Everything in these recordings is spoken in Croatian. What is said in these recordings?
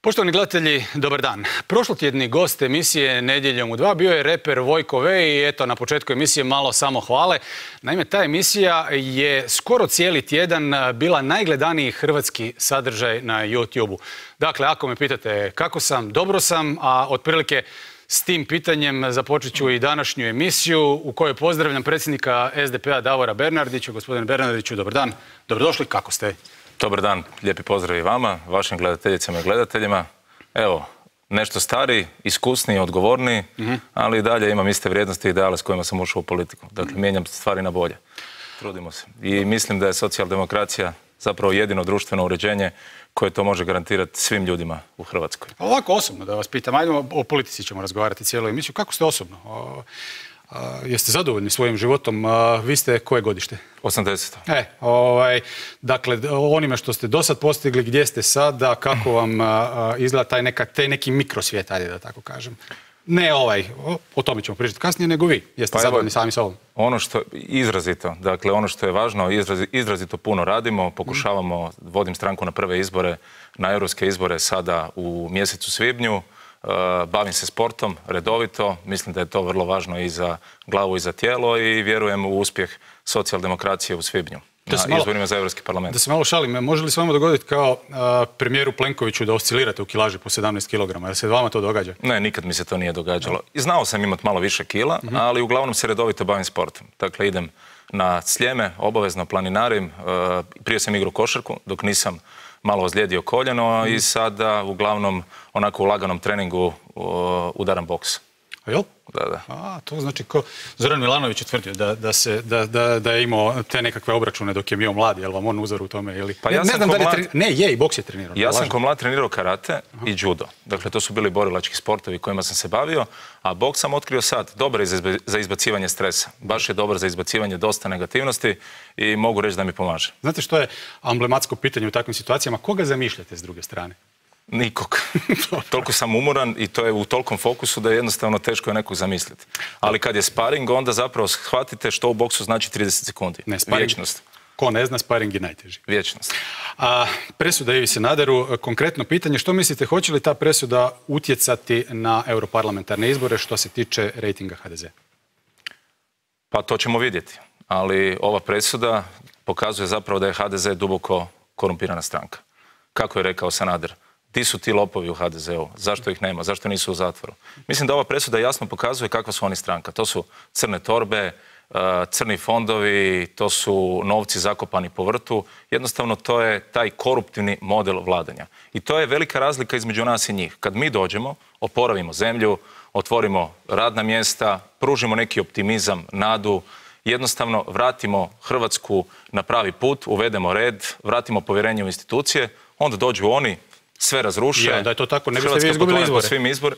Poštovani gledatelji, dobar dan. Prošlotjedni gost emisije Nedjeljom u 2 bio je reper Vojko V i eto na početku emisije malo samo hvale. Naime, ta emisija je skoro cijeli tjedan bila najgledaniji hrvatski sadržaj na YouTube-u. Dakle, ako me pitate kako sam, dobro sam, a otprilike s tim pitanjem započet ću i današnju emisiju u kojoj pozdravljam predsjednika SDP-a Davora Bernardića. Gospodine Bernardiću, dobar dan. Dobrodošli, kako ste? Dobar dan, lijepi pozdrav i vama, vašim gledateljicama i gledateljima. Evo, nešto stariji, iskusniji, odgovorniji, ali i dalje imam iste vrijednosti i ideale s kojima sam ušao u politiku. Dakle, mijenjam stvari na bolje. Trudimo se. I mislim da je socijaldemokracija zapravo jedino društveno uređenje koje to može garantirati svim ljudima u Hrvatskoj. Ovako osobno da vas pitam, ajmo o politici ćemo razgovarati cijelu emisiju. Kako ste osobno? Jeste zadovoljni svojim životom? Vi ste koje godište? 80. Dakle, onime što ste do sad postigli, gdje ste sada, kako vam izgleda taj neki mikrosvijet, ajde da tako kažem. Ne o tome ćemo pričati kasnije, nego vi. Jeste zadovoljni sami s ovom? Ono što izrazito, dakle ono što je važno, izrazito puno radimo, pokušavamo, vodim stranku na prve izbore, na europske izbore sada u mjesecu svibnju. Bavim se sportom redovito, mislim da je to vrlo važno i za glavu i za tijelo i vjerujem u uspjeh socijaldemokracije u svibnju na izborima za Europski parlament. Da se malo šalim, može li se vama dogoditi kao premijeru Plenkoviću da oscilirate u kilaži po 17 kg? Jel se vama to događa? Ne, nikad mi se to nije događalo. I znao sam imati malo više kila, ali uglavnom se redovito bavim sportom. Dakle, idem na Sljeme, obavezno planinarim, prije sam igrao košarku dok nisam malo ozlijedio koljeno i sada uglavnom onako u laganom treningu udaram boks. A jel? Da. To znači ko Zoran Milanović je tvrdio da je imao te nekakve obračune dok je bio mlad, je li vam on uzor u tome? Pa ja sam i boks je trenirao. Ja sam ko mlad trenirao karate i judo. Dakle, to su bili borilački sportovi kojima sam se bavio, a boks sam otkrio sad. Dobar je za izbacivanje stresa. Baš je dobar za izbacivanje dosta negativnosti i mogu reći da mi pomaže. Znate što je amblematsko pitanje u takvim situacijama? Koga zamišljate s druge strane? Nikog. Toliko sam umoran i to je u tolikom fokusu da je jednostavno teško je nekog zamisliti. Ali kad je sparing, onda zapravo shvatite što u boksu znači 30 sekundi. Vječnost. Ko ne zna, sparing je najteži. Vječnost. Presuda Ivi Sanaderu, konkretno pitanje, što mislite, hoće li ta presuda utjecati na europarlamentarne izbore što se tiče rejtinga HDZ? Pa to ćemo vidjeti. Ali ova presuda pokazuje zapravo da je HDZ duboko korumpirana stranka. Kako je rekao Sanader? Ti su ti lopovi u HDZ-u. Zašto ih nema? Zašto nisu u zatvoru? Mislim da ova presuda jasno pokazuje kakva su oni stranka. To su crne torbe, crni fondovi, to su novci zakopani po vrtu. Jednostavno to je taj koruptivni model vladanja. I to je velika razlika između nas i njih. Kad mi dođemo, oporavimo zemlju, otvorimo radna mjesta, pružimo neki optimizam, nadu, jednostavno vratimo Hrvatsku na pravi put, uvedemo red, vratimo povjerenje u institucije, onda dođu oni, sve razruše. Da je to tako, ne biste vi izgubili izbore.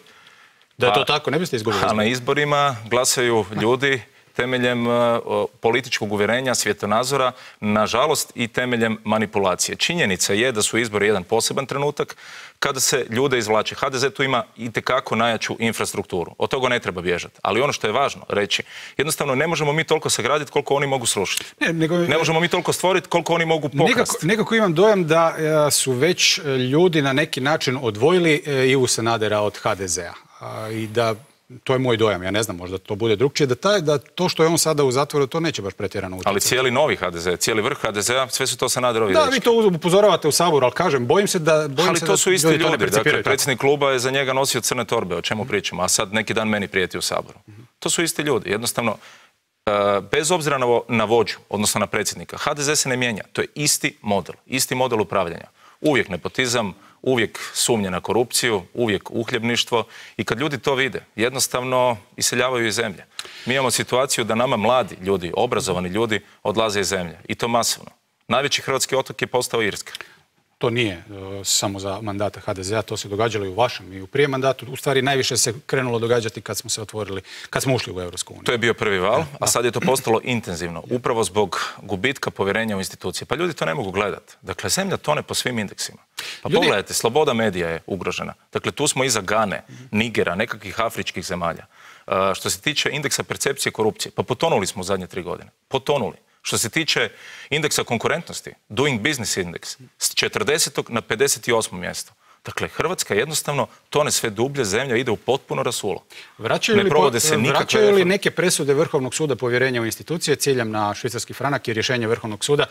Da je to tako, ne biste izgubili izbore. A na izborima glasaju ljudi temeljem političkog uvjerenja, svjetonazora, nažalost i temeljem manipulacije. Činjenica je da su izbori jedan poseban trenutak kada se ljude izvlače. HDZ tu ima itekako najjaču infrastrukturu. Od toga ne treba bježati. Ali ono što je važno reći, jednostavno ne možemo mi toliko sagraditi koliko oni mogu srušiti. Ne možemo mi toliko stvoriti koliko oni mogu pokrasti. Nekako imam dojam da su već ljudi na neki način odvojili Ivu Sanadera od HDZ-a. I da to je moj dojam, ja ne znam, možda to bude drukčije, da to što je on sada u zatvoru, to neće baš pretjerano utjecati. Ali cijeli novi HDZ, cijeli vrh HDZ-a, sve su to Sanaderovi dečki. Da, vi to upozoravate u Saboru, ali kažem, bojim se da ali to su isti ljudi, dakle, predsjednik kluba je za njega nosio crne torbe, o čemu pričamo, a sad neki dan meni prijeti u Saboru. To su isti ljudi, jednostavno, bez obzira na vođu, odnosno na predsjednika, HDZ se ne mijenja, to je isti model upravljanja. Uvijek nepotizam, uvijek sumnje na korupciju, uvijek uhljebništvo i kad ljudi to vide, jednostavno iseljavaju iz zemlje. Mi imamo situaciju da nama mladi ljudi, obrazovani ljudi odlaze iz zemlje i to masovno. Najveći hrvatski otok je postao Irska. To nije samo za mandata HDZ-a, to se događalo i u vašem i u prije mandatu. U stvari najviše se krenulo događati kad smo se otvorili, kad smo ušli u Europsku uniju. To je bio prvi val, a sad je to postalo intenzivno, upravo zbog gubitka povjerenja u institucije. Pa ljudi to ne mogu gledati. Dakle, zemlja tone po svim indeksima. Pa pogledajte, sloboda medija je ugrožena. Dakle, tu smo iza Gane, Nigera, nekakvih afričkih zemalja. Što se tiče indeksa percepcije korupcije, pa potonuli smo u zadnje 3 godine. Potonuli. Što se tiče indeksa konkurentnosti, Doing Business Index, s 40. na 58. mjesto. Dakle, Hrvatska jednostavno tone sve dublje, zemlja ide u potpuno rasulo. Vraćaju li neke presude Vrhovnog suda povjerenja u institucije ciljem na švicarski franak i rješenje Vrhovnog suda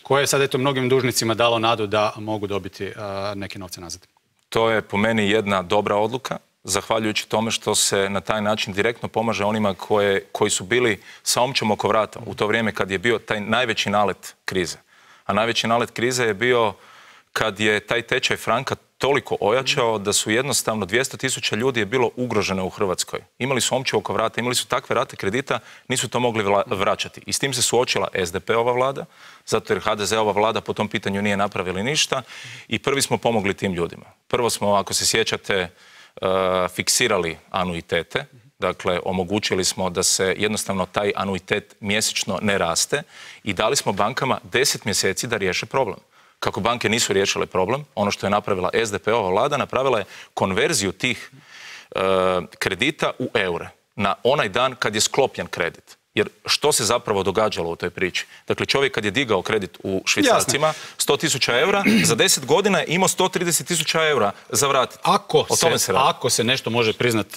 koje je sad eto mnogim dužnicima dalo nadu da mogu dobiti neke novce nazad? To je po meni jedna dobra odluka, zahvaljujući tome što se na taj način direktno pomaže onima koji su bili sa omčom oko vrata u to vrijeme kad je bio taj najveći nalet krize. A najveći nalet krize je bio kad je taj tečaj franka toliko ojačao da su jednostavno 200.000 ljudi je bilo ugroženo u Hrvatskoj. Imali su omču oko vrata, imali su takve rate kredita, nisu to mogli vraćati. I s tim se suočila SDP-ova vlada, zato jer HDZ-ova vlada po tom pitanju nije napravila ništa i prvi smo pomogli tim ljudima. Prvo smo, ako se sjećate, fiksirali anuitete, dakle omogućili smo da se jednostavno taj anuitet mjesečno ne raste i dali smo bankama 10 mjeseci da riješe problem. Kako banke nisu riješile problem, ono što je napravila SDP-ova vlada, napravila je konverziju tih kredita u eure na onaj dan kad je sklopljen kredit. Jer što se zapravo događalo u toj priči? Dakle, čovjek kad je digao kredit u švicarcima, 100.000 eura, za 10 godina je imao 130.000 eura za vratiti. Ako se nešto može priznat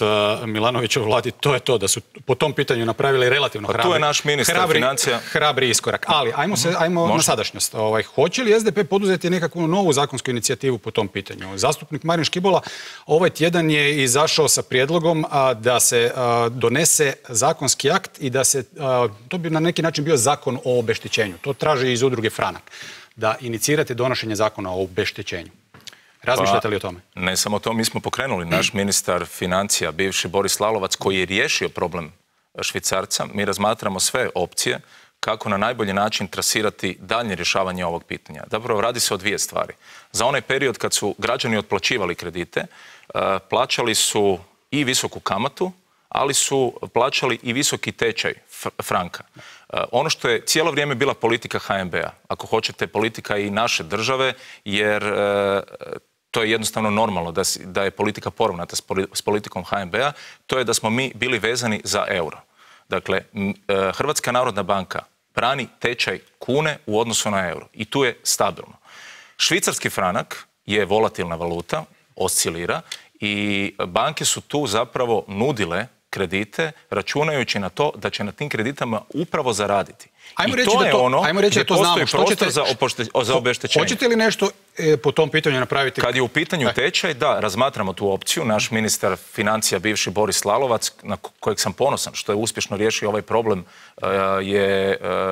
Milanovićevoj vladi, to je to da su po tom pitanju napravili relativno tu je naš ministar financija. Hrabri iskorak. Ali, ajmo na sadašnjost. Hoće li SDP poduzeti nekakvu novu zakonsku inicijativu po tom pitanju? Zastupnik Marin Škibola ovaj tjedan je izašao sa prijedlogom da se donese zakonski akt i da se to bi na neki način bio zakon o obeštećenju. To traži iz udruge Franak. Da inicirate donošenje zakona o obeštećenju. Razmišljate li o tome? Ne samo to, mi smo pokrenuli. Naš ministar financija, bivši Boris Lalovac, koji je riješio problem Švicarca. Mi razmatramo sve opcije kako na najbolji način trasirati daljnje rješavanje ovog pitanja. Zapravo radi se o dvije stvari. Za onaj period kad su građani otplaćivali kredite, plaćali su i visoku kamatu, ali su plaćali i visoki tečaj franka. Ono što je cijelo vrijeme bila politika HNB-a, ako hoćete politika i naše države, jer to je jednostavno normalno da je politika poravnata s politikom HNB-a, to je da smo mi bili vezani za euro. Dakle, Hrvatska narodna banka brani tečaj kune u odnosu na euro i tu je stabilno. Švicarski franak je volatilna valuta, oscilira i banke su tu zapravo nudile kredite računajući na to da će na tim kreditama upravo zaraditi. Ajmo reći da to znamo. Za obeštećenje. Hoćete li nešto po tom pitanju napraviti? Kad je u pitanju tečaj, da, razmatramo tu opciju. Naš ministar financija, bivši Boris Lalovac, na kojeg sam ponosan što je uspješno riješio ovaj problem,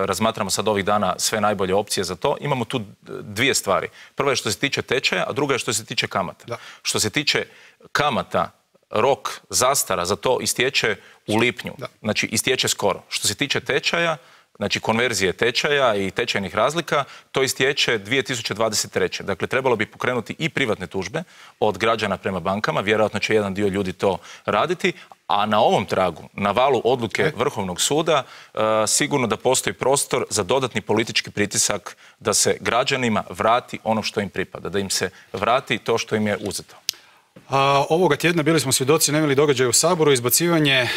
razmatramo sad ovih dana sve najbolje opcije za to. Imamo tu dvije stvari. Prva je što se tiče tečaja, a druga je što se tiče kamata. Da. Što se tiče kamata, rok zastara za to istječe u lipnju. Da. Znači, istječe skoro. Što se tiče tečaja, znači konverzije tečaja i tečajnih razlika, to istječe 2023. Dakle, trebalo bi pokrenuti i privatne tužbe od građana prema bankama, vjerojatno će jedan dio ljudi to raditi, a na ovom tragu, na valu odluke Vrhovnog suda, sigurno da postoji prostor za dodatni politički pritisak da se građanima vrati ono što im pripada, da im se vrati to što im je uzeto. Ovoga tjedna bili smo svjedoci nemili događaja u Saboru, izbacivanje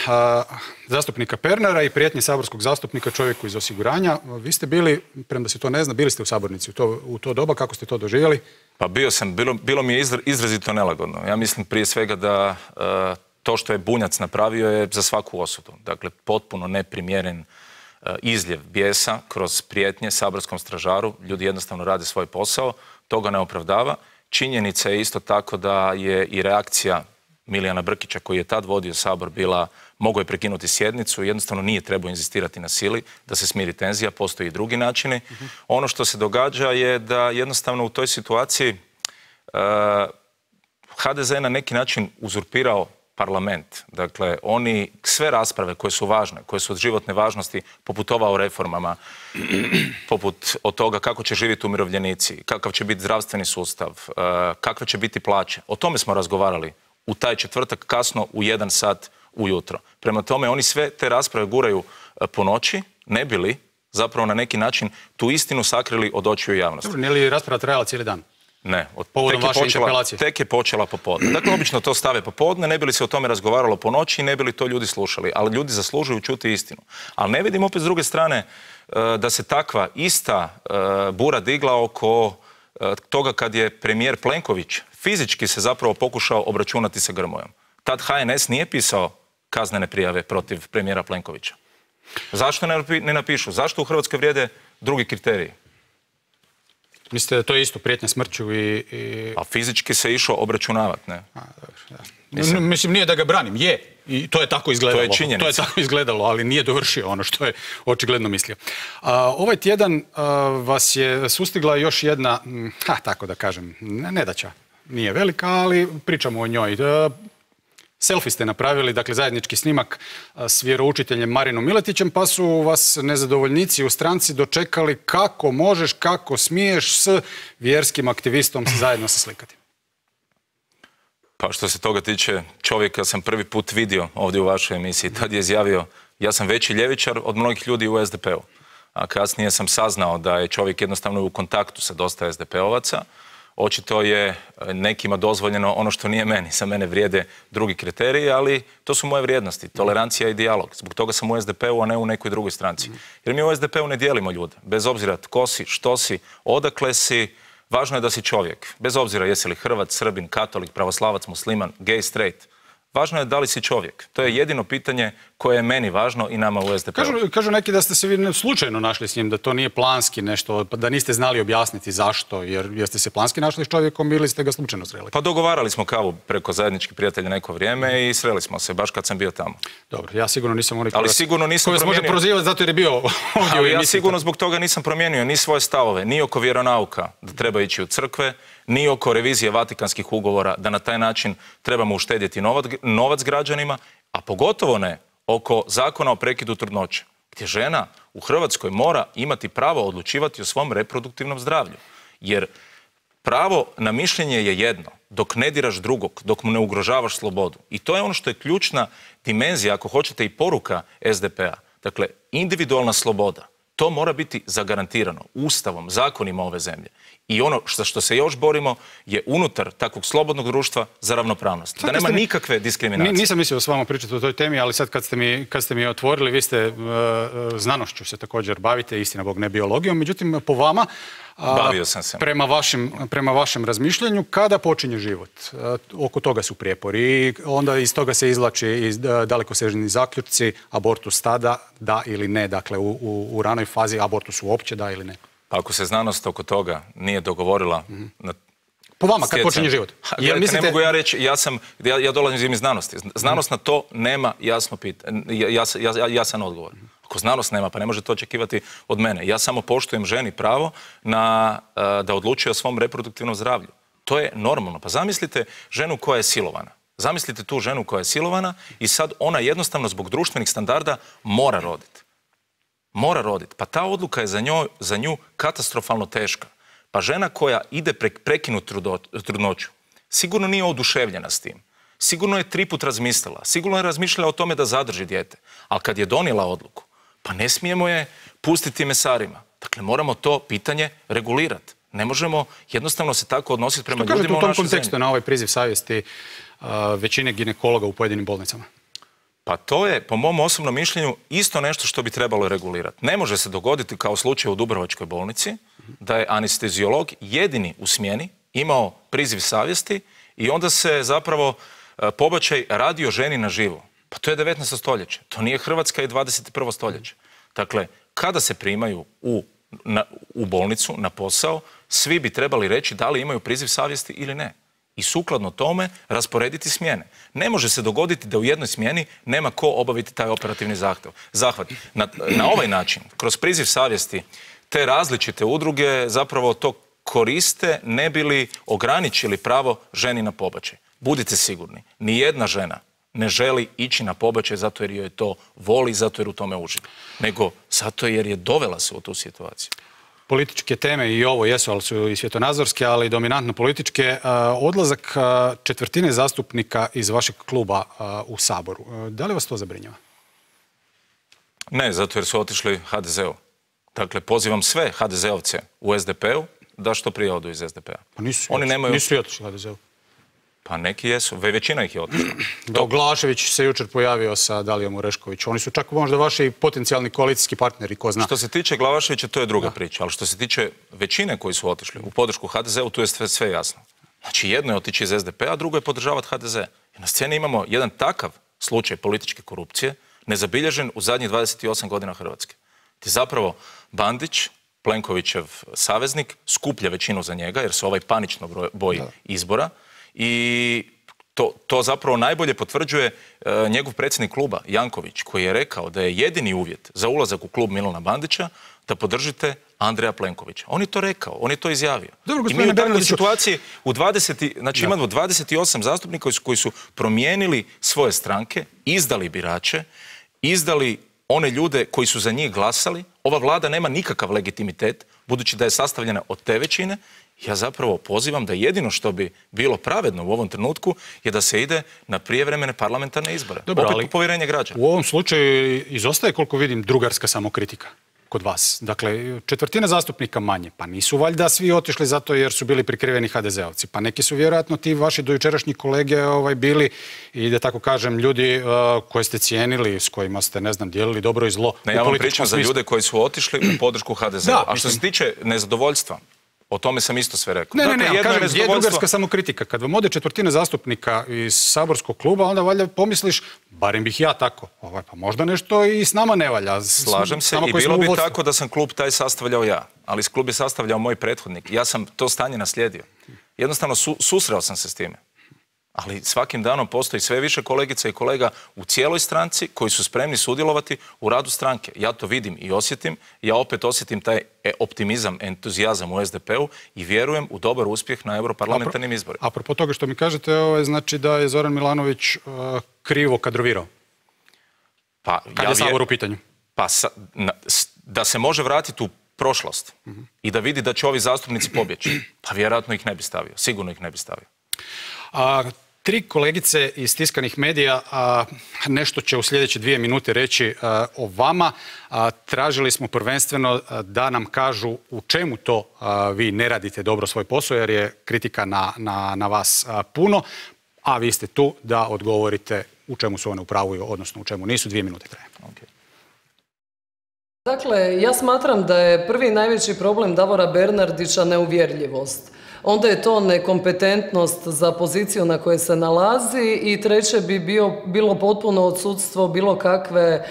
zastupnika Pernara i prijetnje saborskog zastupnika čovjeku iz osiguranja. Vi ste bili, premda se to ne zna, bili ste u sabornici u to doba, kako ste to doživjeli? Pa bio sam, bilo mi je izrazito nelagodno. Ja mislim prije svega da to što je Bunjac napravio je za svaku osudu. Dakle, potpuno neprimjeren izljev bijesa kroz prijetnje saborskom stražaru. Ljudi jednostavno rade svoj posao, to ga ne opravdava. Činjenica je isto tako da je i reakcija Milijana Brkića, koji je tad vodio Sabor, bila, mogao je prekinuti sjednicu, jednostavno nije trebao inzistirati na sili da se smiri tenzija, postoji i drugi načini. Ono što se događa je da jednostavno u toj situaciji HDZ je na neki način uzurpirao parlament. Dakle, oni sve rasprave koje su važne, koje su od životne važnosti, poput ova o reformama, poput od toga kako će živjeti umirovljenici, kakav će biti zdravstveni sustav, kakve će biti plaće. O tome smo razgovarali u taj četvrtak kasno u 1 sat ujutro. Prema tome, oni sve te rasprave guraju po noći, ne bi li zapravo na neki način tu istinu sakrili od očiju javnosti. Dobro, nije li rasprava trajala cijeli dan? Ne, tek je počela popodne. Dakle, obično to stave popodne, ne bi li se o tome razgovaralo po noći i ne bi li to ljudi slušali. Ali ljudi zaslužuju čuti istinu. Ali ne vidim opet s druge strane da se takva ista bura digla oko toga kad je premijer Plenković fizički se zapravo pokušao obračunati sa Grmojom. Tad HNS nije pisao kaznene prijave protiv premijera Plenkovića. Zašto ne napišu? Zašto u Hrvatskoj vrijede drugi kriteriji? Mislite da to je isto prijetnja smrću i... A fizički se išao obračunavati, ne? Mislim, nije da ga branim, je. I to je tako izgledalo. To je činjenica. To je tako izgledalo, ali nije dovršio ono što je očigledno mislio. Ovaj tjedan vas je sustigla još jedna, tako da kažem, nedaća. Nije velika, ali pričamo o njoj. Selfie ste napravili, dakle zajednički snimak s vjeroučiteljem Marinom Miletićem, pa su vas nezadovoljnici u stranci dočekali kako možeš, kako smiješ s vjerskim aktivistom zajedno se slikati. Pa što se toga tiče, čovjeka sam prvi put vidio ovdje u vašoj emisiji. Tad je izjavio, ja sam veći ljevičar od mnogih ljudi u SDP-u. A kasnije sam saznao da je čovjek jednostavno u kontaktu sa dosta SDP-ovaca. Očito je nekima dozvoljeno ono što nije meni. Za mene vrijede drugi kriteriji, ali to su moje vrijednosti. Tolerancija i dijalog. Zbog toga sam u SDP-u, a ne u nekoj drugoj stranci. Jer mi u SDP-u ne dijelimo ljude. Bez obzira tko si, što si, odakle si, važno je da si čovjek. Bez obzira jesi li Hrvat, Srbin, katolik, pravoslavac, musliman, gay, straight. Važno je da li si čovjek. To je jedino pitanje koje je meni važno i nama u SDP-u. Kažu neki da ste se vi slučajno našli s njim, da to nije planski nešto, da niste znali objasniti zašto, jer jeste se planski našli s čovjekom ili ste ga slučajno sreli? Pa dogovarali smo kavu preko zajedničkih prijatelja neko vrijeme i sreli smo se, baš kad sam bio tamo. Dobro, ja sigurno nisam onaj ali sigurno nisam koji vas može prozivati zato jer je bio ovdje u ali ja emisiji. sigurno zbog toga nisam promijenio ni svoje stavove, ni oko vjeronauka da treba ići u crkve, ni oko revizije Vatikanskih ugovora, da na taj način trebamo uštedjeti novac građanima, a pogotovo ne oko zakona o prekidu trudnoće, gdje žena u Hrvatskoj mora imati pravo odlučivati o svom reproduktivnom zdravlju. Jer pravo na mišljenje je jedno, dok ne diraš drugog, dok mu ne ugrožavaš slobodu. I to je ono što je ključna dimenzija, ako hoćete i poruka SDP-a. Dakle, individualna sloboda. To mora biti zagarantirano Ustavom, zakonima ove zemlje. I ono što se još borimo je unutar takvog slobodnog društva za ravnopravnost. Da nema nikakve diskriminacije. Nisam mislio s vama pričati o toj temi, ali sad kad ste mi otvorili, vi ste znanošću se također bavite, istina Bog ne biologijom, međutim po vama, bavio sam se. Prema vašem razmišljanju, kada počinje život? Oko toga su prijepori i onda iz toga se izvlači dalekosežni zaključci, abortus tada, da ili ne, dakle u ranoj fazi abortus uopće da ili ne. Pa ako se znanost oko toga nije dogovorila... Po vama, kad počinje život? Ne mogu ja reći, ja dolazim iz znanosti. Znanost na to nema jasan odgovor. Ako znanost nema, pa ne može to očekivati od mene. Ja samo poštujem ženi pravo da odlučuje o svom reproduktivnom zdravlju. To je normalno. Pa zamislite ženu koja je silovana. Zamislite tu ženu koja je silovana i sad ona jednostavno zbog društvenih standarda mora roditi. Mora roditi. Pa ta odluka je za nju katastrofalno teška. Pa žena koja ide prekinuti trudnoću sigurno nije oduševljena s tim. Sigurno je 3 put razmislila. Sigurno je razmišljala o tome da zadrži dijete. Ali kad je donijela odluku, pa ne smijemo je pustiti mesarima. Dakle, moramo to pitanje regulirati. Ne možemo jednostavno se tako odnositi prema ljudima u našoj zemlji. Što kažete u tom kontekstu na ovaj priziv savjesti većine ginekologa u pojedinim bolnicama? Pa to je, po mom osobnom mišljenju, isto nešto što bi trebalo regulirati. Ne može se dogoditi, kao slučaj u Dubrovačkoj bolnici, da je anesteziolog jedini u smjeni imao priziv savjesti i onda se zapravo pobačaj radio ženi na živo. Pa to je 19. stoljeće. To nije Hrvatska i 21. stoljeće. Dakle, kada se primaju u bolnicu, na posao, svi bi trebali reći da li imaju priziv savjesti ili ne. I sukladno tome rasporediti smjene. Ne može se dogoditi da u jednoj smjeni nema ko obaviti taj operativni zahvat. Na ovaj način, kroz priziv savjesti, te različite udruge zapravo to koriste ne bi li ograničili pravo ženi na pobačaj. Budite sigurni, nijedna žena ne želi ići na pobačaj zato jer joj to voli, zato jer u tome uživa. Nego zato jer je dovela se u tu situaciju. Političke teme i ovo jesu, ali su i svjetonazorske, ali i dominantno političke. Odlazak četvrtine zastupnika iz vašeg kluba u Saboru. Da li vas to zabrinjava? Ne, zato jer su otišli HDZ-u. Dakle, pozivam sve HDZ-ovce u SDP-u da što prije odu iz SDP-a. Pa nisu otišli HDZ-u. Pa neki jesu, većina ih je otišla. Glašević se jučer pojavio sa Dalijom Orešković. Oni su čak možda vaši potencijalni koalicijski partneri, ko zna. Što se tiče Glavaševića, to je druga priča, ali što se tiče većine koji su otišli u podršku HDZ-u, tu je sve jasno. Znači, jedno je otići iz SDP-a, a drugo je podržavati HDZ. I na sceni imamo jedan takav slučaj političke korupcije, nezabilježen u zadnjih 28 godina Hrvatske. Ti zapravo Bandić, Plenkovićev saveznik, skuplja većinu za njega, jer se ovaj panično boji izbora. I to zapravo najbolje potvrđuje njegov predsjednik kluba, Janković, koji je rekao da je jedini uvjet za ulazak u klub Milana Bandića da podržite Andreja Plenkovića. On je to rekao, on je to izjavio. I mi u takvoj situaciji imamo 28 zastupnika koji su promijenili svoje stranke, izdali birače, izdali one ljude koji su za njih glasali. Ova vlada nema nikakav legitimitet, budući da je sastavljena od te većine. Ja zapravo pozivam da jedino što bi bilo pravedno u ovom trenutku je da se ide na prijevremene parlamentarne izbore. Dobro, opet ali po povjerenje građana. U ovom slučaju izostaje, koliko vidim, drugarska samokritika kod vas. Dakle, četvrtina zastupnika manje. Pa nisu valjda svi otišli zato jer su bili prikriveni HDZ-ovci. Pa neki su vjerojatno ti vaši dojučerašnji kolege bili, i da tako kažem, ljudi koje ste cijenili, s kojima ste, ne znam, dijelili dobro i zlo. Ne, ja vam pričam za ljude koji su otišli u podršku HDZ-a. A što se tiče nezadovoljstva, o tome sam isto sve rekao. Ne, kažem, je drugarska samokritika. Kad vam ode četvrtina zastupnika iz saborskog kluba, onda valjda pomisliš, barem bih ja tako, pa možda nešto i s nama ne valja. Slažem se i bilo bi tako da sam klub taj sastavljao ja, ali klub je sastavljao moj prethodnik. Ja sam to stanje naslijedio. Jednostavno susreo sam se s time. Ali svakim danom postoji sve više kolegica i kolega u cijeloj stranci koji su spremni sudjelovati u radu stranke. Ja to vidim i osjetim. Ja opet osjetim taj optimizam, entuzijazam u SDP-u i vjerujem u dobar uspjeh na europarlamentarnim izborima. Apropo toga što mi kažete, znači da je Zoran Milanović krivo kadrovirao. Kad je Sabor u pitanju? Da se može vratiti u prošlost i da vidi da će ovi zastupnici pobjeći, pa vjerojatno ih ne bi stavio. Sigurno ih ne bi stavio. Tri kolegice iz tiskanih medija nešto će u sljedeće 2 minute reći o vama. Tražili smo prvenstveno da nam kažu u čemu to vi ne radite dobro svoj posao, jer je kritika na vas puno, a vi ste tu da odgovorite u čemu su one u pravu, odnosno u čemu nisu. 2 minute traje. Dakle, ja smatram da je prvi najveći problem Davora Bernardića neuvjerljivost. Onda je to nekompetentnost za poziciju na kojoj se nalazi i treće bi bilo potpuno odsudstvo bilo kakve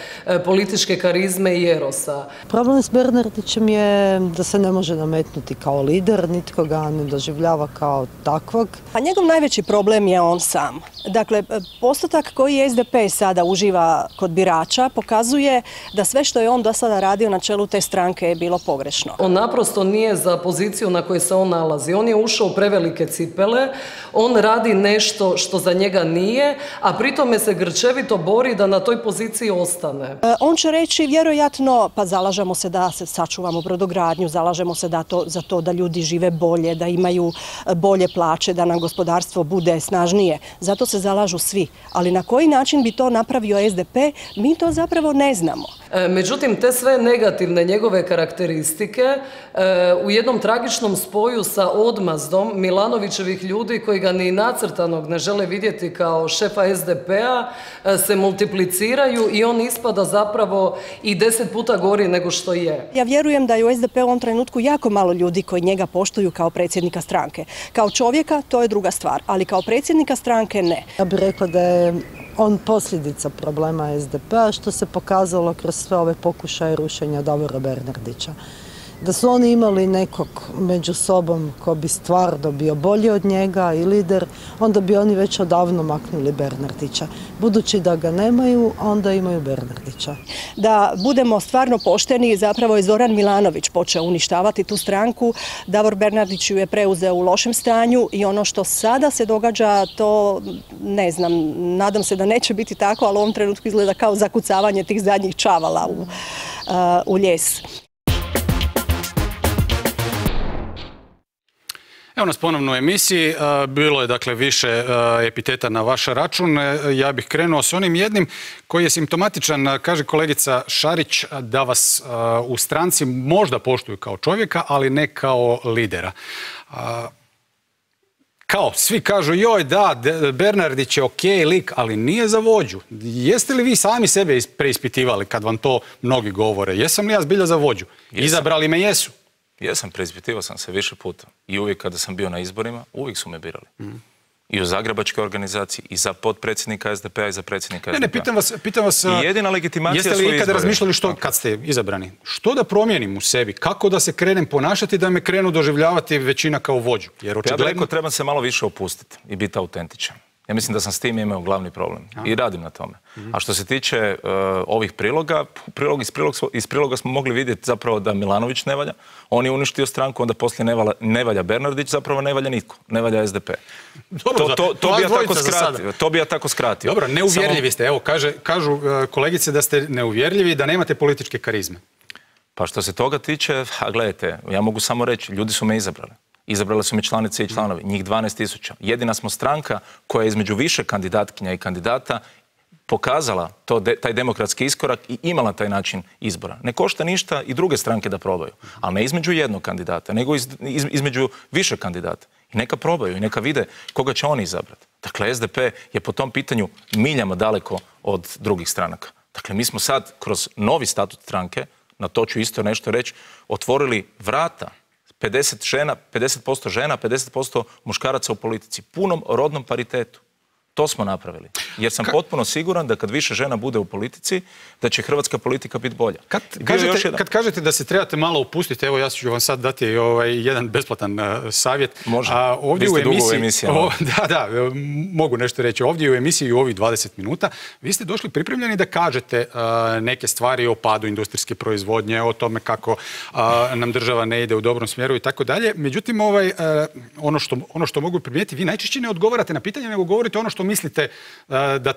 političke karizme i erosa. Problem s Bernardićem je da se ne može nametnuti kao lider, nitko ga ne doživljava kao takvog. Pa njegov najveći problem je on sam. Dakle, postotak koji SDP sada uživa kod birača pokazuje da sve što je on do sada radio na čelu te stranke je bilo pogrešno. On naprosto nije za poziciju na kojoj se on nalazi. On je ušao u prevelike cipele, on radi nešto što za njega nije, a pritome se grčevito bori da na toj poziciji ostane. On će reći vjerojatno, pa zalažemo se da se sačuvamo brodogradnju, zalažemo se za to da ljudi žive bolje, da imaju bolje plaće, da nam gospodarstvo bude snažnije. Zato se zalažu svi. Ali na koji način bi to napravio SDP, mi to zapravo ne znamo. Međutim, te sve negativne njegove karakteristike u jednom tragičnom spoju sa odmazdom Milanovićevih ljudi koji ga ni nacrtanog ne žele vidjeti kao šefa SDP-a se multipliciraju i on ispada zapravo i 10 puta gori nego što je. Ja vjerujem da je u SDP-u u ovom trenutku jako malo ljudi koji njega poštuju kao predsjednika stranke. Kao čovjeka to je druga stvar, ali kao predsjednika stranke ne. Ja bih rekla da je on posljedica problema SDP-a, što se pokazalo kroz sve ove pokušaje rušenja Davora Bernardića. Da su oni imali nekog među sobom ko bi stvarno bio bolji od njega i lider, onda bi oni već odavno maknuli Bernardića. Budući da ga nemaju, onda imaju Bernardića. Da budemo stvarno pošteni, zapravo je Zoran Milanović počeo uništavati tu stranku. Davor Bernardić ju je preuzeo u lošem stanju i ono što sada se događa, to ne znam, nadam se da neće biti tako, ali u ovom trenutku izgleda kao zakucavanje tih zadnjih čavala u ljes. Evo nas ponovno u emisiji. Bilo je dakle više epiteta na vaš račun. Ja bih krenuo s onim jednim koji je simptomatičan. Kaže kolegica Šarić da vas u stranci možda poštuju kao čovjeka, ali ne kao lidera. kao svi kažu joj da, Bernardić je okej lik, ali nije za vođu. Jeste li vi sami sebe preispitivali kad vam to mnogi govore? Jesam li ja zbilja za vođu? Izabrali me jesu. Jesam, preispitivao sam se više puta. I uvijek kada sam bio na izborima, uvijek su me birali. I u zagrebačkoj organizaciji, i za potpredsjednika SDP-a, i za predsjednika SDP-a. Ne, pitam vas, i jedina legitimacija su izbori. Jeste li ikada razmišljali što, kad ste izabrani, što da promijenim u sebi? Kako da se krenem ponašati da me krenu doživljavati većina kao vođu? Jer očigledno... Ja bih rekao, trebam se malo više opustiti i biti autentičan. Ja mislim da sam s tim imao glavni problem i radim na tome. A što se tiče ovih priloga, iz priloga smo mogli vidjeti zapravo da Milanović ne valja, on je uništio stranku, onda poslije ne valja Bernardić, zapravo ne valja nitko, ne valja SDP. To bi ja tako skratio. Dobro, neuvjerljivi ste, evo, kažu kolegice da ste neuvjerljivi i da nemate političke karizme. Pa što se toga tiče, a gledajte, ja mogu samo reći, ljudi su me izabrali. Izabrali su mi članice i članovi, njih 12.000. Jedina smo stranka koja je između više kandidatkinja i kandidata pokazala taj demokratski iskorak i imala taj način izbora. Ne košta ništa i druge stranke da probaju, ali ne između jednog kandidata, nego između više kandidata. I neka probaju i neka vide koga će oni izabrati. Dakle, SDP je po tom pitanju miljama daleko od drugih stranaka. Dakle, mi smo sad kroz novi statut stranke, na to ću isto nešto reći, otvorili vrata 50% žena, 50% muškaraca u politici. Punom rodnom paritetu. To smo napravili. Jer sam potpuno siguran da kad više žena bude u politici, da će hrvatska politika biti bolja. Kad kažete da se trebate malo upustiti, evo ja ću vam sad dati jedan besplatan savjet. Može. Vi ste dugo u emisijama. Da, mogu nešto reći. Ovdje u emisiji u ovih 20 minuta vi ste došli pripremljeni da kažete neke stvari o padu industrijske proizvodnje, o tome kako nam država ne ide u dobrom smjeru i tako dalje. Međutim, ono što mogu primijetiti, vi najčešće ne odgovarate na pitanje, nego govorite ono što mislite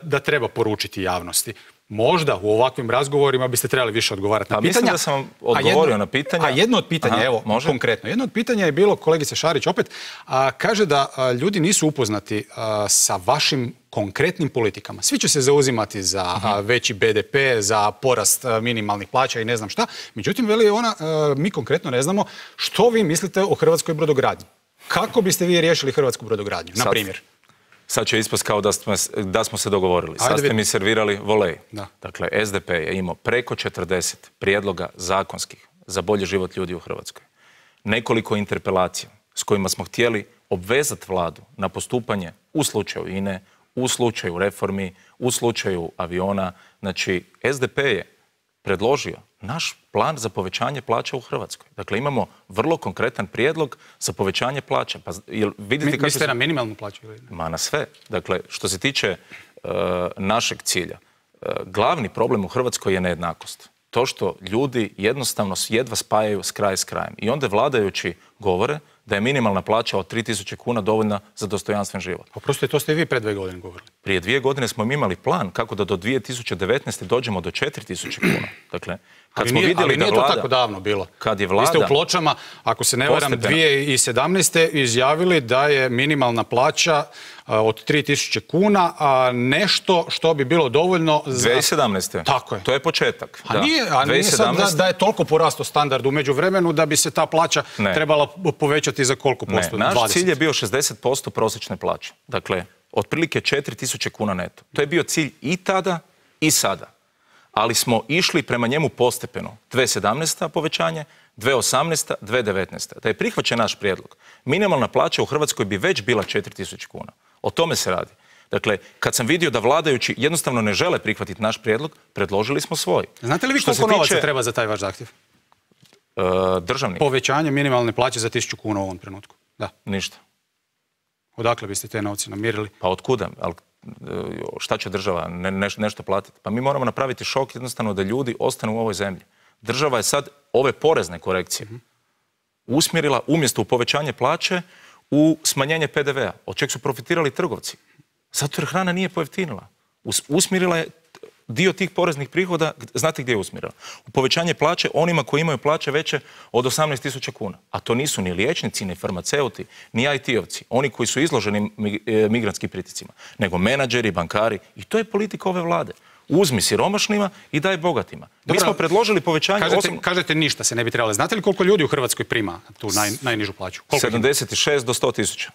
da treba poručiti javnosti. Možda u ovakvim razgovorima biste trebali više odgovarati na pitanja. Mislim da sam odgovorio na pitanja. A jedno od pitanja, evo, konkretno, jedno od pitanja je bilo, kolegice Šarić opet, kaže da ljudi nisu upoznati sa vašim konkretnim politikama. Svi će se zauzimati za veći BDP, za porast minimalnih plaća i ne znam šta. Međutim, veli ona, mi konkretno ne znamo što vi mislite o hrvatskoj brodogradnji. Kako biste vi riješili hrvatsku brodogradnju, na primjer? Sad će ispast kao da smo se dogovorili. Sad ste mi servirali volej. Dakle, SDP je imao preko 40 prijedloga zakonskih za bolji život ljudi u Hrvatskoj. Nekoliko interpelacija s kojima smo htjeli obvezati vladu na postupanje u slučaju INE, u slučaju reformi, u slučaju aviona. Znači, SDP je predložio naš plan za povećanje plaća u Hrvatskoj. Dakle, imamo vrlo konkretan prijedlog za povećanje plaća. Pa, mislite na minimalnu plaću? Ma na sve. Dakle, što se tiče našeg cilja, glavni problem u Hrvatskoj je nejednakost. To što ljudi jednostavno jedva spajaju kraj s krajem. I onda vladajući govore da je minimalna plaća od 3.000 kuna dovoljna za dostojanstven život. Oprostite, to ste i vi pre 2 godine govorili. Prije 2 godine smo imali plan kako da do 2019. dođemo do 4.000 kuna. Dakle, kad smo vidjeli da vlada... to tako davno bilo. Kad je vlada... Vi ste u Pločama, ako se ne varam, 2017. izjavili da je minimalna plaća od 3.000 kuna, a nešto što bi bilo dovoljno za... 2017. Tako je. To je početak. A nije sad da je toliko porastao standard u međuvremenu da bi se ta plaća trebala povećati za koliko posto? Ne, naš cilj je bio 60% prosječne plaće. Dakle, otprilike 4.000 kuna neto. To je bio cilj i tada i sada. Ali smo išli prema njemu postepeno. 2017. povećanje, 2018. 2019. Da je prihvaćen naš prijedlog, minimalna plaća u Hrvatskoj bi već bila 4.000 kuna. O tome se radi. Dakle, kad sam vidio da vladajući jednostavno ne žele prihvatiti naš prijedlog, predložili smo svoj. Znate li vi koliko novaca treba za taj vaš zahtjev? Državni. Povećanje minimalne plaće za 1.000 kuna u ovom trenutku. Da. Ništa. Odakle biste te novce namirili? Pa otkuda? Šta će država nešto platiti? Pa mi moramo napraviti šok jednostavno da ljudi ostanu u ovoj zemlji. Država je sad ove porezne korekcije usmjerila umjesto u povećanje plaće u smanjenje PDV-a, od čeg su profitirali trgovci. Zato jer hrana nije pojeftinila. Usmjerila je dio tih poreznih prihoda, znate gdje je usmjerila? U povećanje plaće onima koji imaju plaće veće od 18.000 kuna. A to nisu ni liječnici, ni farmaceuti, ni IT-ovci, oni koji su izloženi migrantskim pritiscima, nego menadžeri, bankari. I to je politika ove vlade. Uzmi siromašnima i daj bogatima. Mi smo predložili povećanje... Kažete ništa se ne bi trebalo. Znate li koliko ljudi u Hrvatskoj prima tu najnižu plaću? 76 do 100.000.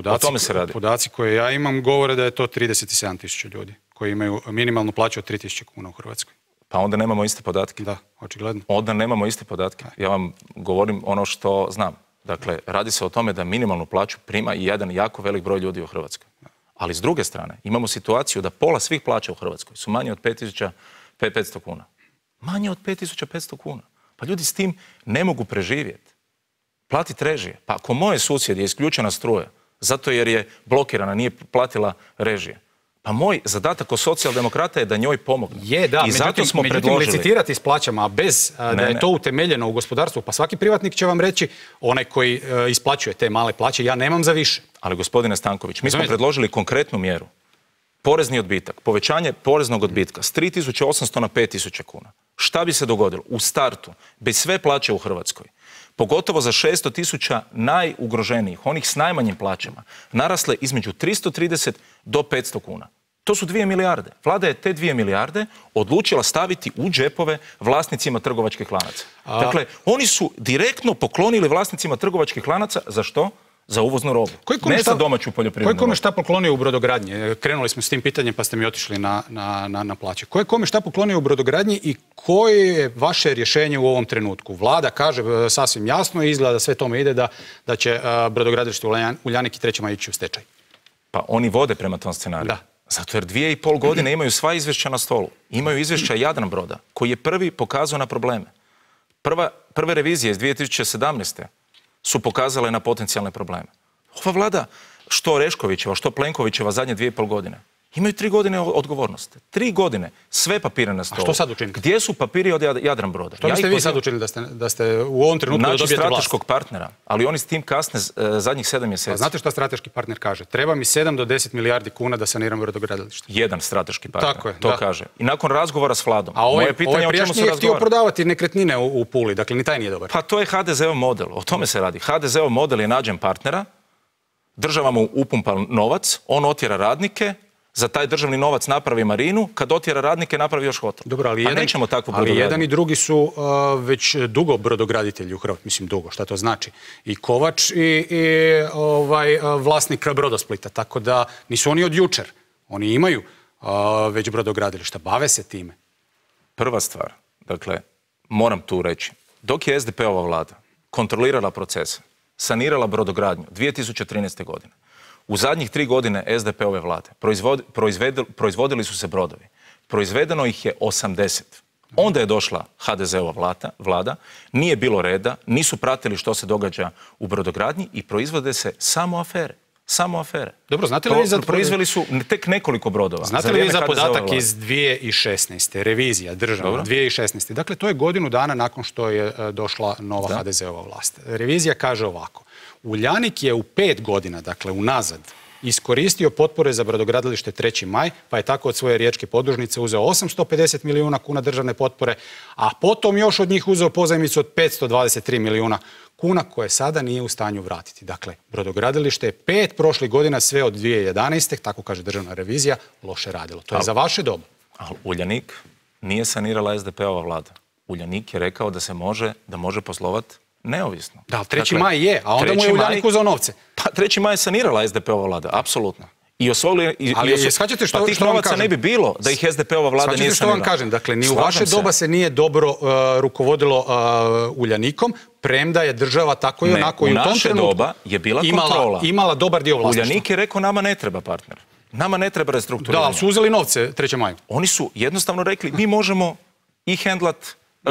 O tome se radi. Podaci koje ja imam govore da je to 37.000 ljudi koji imaju minimalnu plaću od 3.000 kuna u Hrvatskoj. Pa onda nemamo iste podatke. Da, očigledno. Onda nemamo iste podatke. Ja vam govorim ono što znam. Dakle, radi se o tome da minimalnu plaću prima i jedan jako velik broj ljudi u Hrvatskoj. Ali s druge strane, imamo situaciju da pola svih plaća u Hrvatskoj su manje od 5.500 kuna. Manje od 5.500 kuna. Pa ljudi s tim ne mogu preživjeti. Platiti režije. Pa ako moje susjed je isključena struja, zato jer je blokirana, nije platila režije, pa moj zadatak kao socijaldemokrata je da njoj pomogne. Je, da, i zato smo predložili. licitirati s plaćama, a bez da je to utemeljeno u gospodarstvu, pa svaki privatnik će vam reći, onaj koji isplaćuje te male plaće, ja nemam za više. Ali gospodine Stanković, mi smo predložili konkretnu mjeru. Porezni odbitak, povećanje poreznog odbitka s 3.800 na 5.000 kuna. Šta bi se dogodilo? U startu, bez sve plaće u Hrvatskoj, pogotovo za 600.000 najugroženijih, onih s najmanjim plaćama, narasle između 330 do 500 kuna. To su 2 milijarde. Vlada je te 2 milijarde odlučila staviti u džepove vlasnicima trgovačkih lanaca. Dakle, oni su direktno poklonili vlasnicima trgovačkih lanaca. Za što? Za uvoznu robu. Ne za domaću poljoprivrednu robu. Ko je kome šta poklonio u brodogradnji? Krenuli smo s tim pitanjem pa ste mi otišli na plaće. Ko je kome šta poklonio u brodogradnji i koje je vaše rješenje u ovom trenutku? Vlada kaže sasvim jasno i izgleda da sve tome ide da će brodogradilište Uljanik i 3. Maj ići u stečaj. Pa oni vode prema tom scenariju. Da. Zato jer 2,5 godine imaju sva izvješća na stolu. Imaju izvješća Jadranbroda koji je prvi pokazao na probleme. Prve revizije iz 2017. su pokazale na potencijalne probleme. Ova vlada, što Oreškovićeva, što Plenkovićeva zadnje 2,5 godine, imaju 3 godine odgovornosti. 3 godine, sve papire na stolu. A što sad učiniti? Gdje su papiri od Jadranbroda? Što biste vi sad učinili da ste u ovom trenutku da dobijete vlast? Strateškog partnera, ali oni s tim kasne zadnjih 7 mjeseci. A znate šta strateški partner kaže? Treba mi 7 do 10 milijardi kuna da saniram brodogradilište. Jedan strateški partner, tako je, to kaže. I nakon razgovora s Vladom. A ovaj prijašnji je htio prodavati nekretnine u Puli, dakle ni taj nije dobar. Pa to je HDZ-ov model, o tome se radi. HDZ-ov model je nađen partnera, država mu upumpa novac, on otjera radnike, za taj državni novac napravi marinu, kad otjera radnike napravi još hotel. Dobro, ali nećemo takvu brodogradnju. Ali jedan i drugi su već dugo brodograditelji u Hrvatskoj. Mislim dugo, šta to znači? I Kovač i vlasnik Brodosplita. Tako da nisu oni od jučer. Oni imaju već brodogradilišta. Bave se time. Prva stvar, dakle, moram tu reći. Dok je SDP-ova vlada kontrolirala procese, sanirala brodogradnju 2013. godine, u zadnjih 3 godine SDP-ove vlade proizvodili su se brodovi. Proizvedeno ih je 80. Onda je došla HDZ-ova vlada, nije bilo reda, nisu pratili što se događa u brodogradnji i proizvode se samo afere. Samo afere. Dobro, znate li vi proizveli su tek nekoliko brodova. Znate li vi za podatak iz 2016. Revizija državna 2016. Dakle, to je godinu dana nakon što je došla nova HDZ-ova vlast. Revizija kaže ovako. Uljanik je u 5 godina, dakle unazad, iskoristio potpore za brodogradilište 3. Maj, pa je tako od svoje riječke podružnice uzeo 850 milijuna kuna državne potpore, a potom još od njih uzeo pozajmicu od 523 milijuna kuna koje sada nije u stanju vratiti. Dakle, brodogradilište je 5 prošlih godina, sve od 2011. tako kaže državna revizija, loše radilo. To je za vaše dobu. Ali Uljanik nije sanirala SDP-ova vlada. Uljanik je rekao da može poslovati neovisno. Da, 3. Maj je, a onda mu je Uljanik uzeo novce. Pa 3. Maj je sanirala SDP-ova vlada, apsolutno. Ali shvaćate što vam kažem? Pa tih novaca ne bi bilo da ih SDP-ova vlada nije sanirala. Shvaćate što vam kažem? Dakle, ni u vaše doba se nije dobro rukovodilo Uljanikom, premda je država tako i onako i u tom trenutku doba je bila kontrola. Imala dobar dio vlasništva. Uljanik je rekao nama ne treba partner. Nama ne treba restrukturiranje. Da, ali su uzeli novce 3. Maju. Oni su jednostavno rekli mi možemo i hendlat.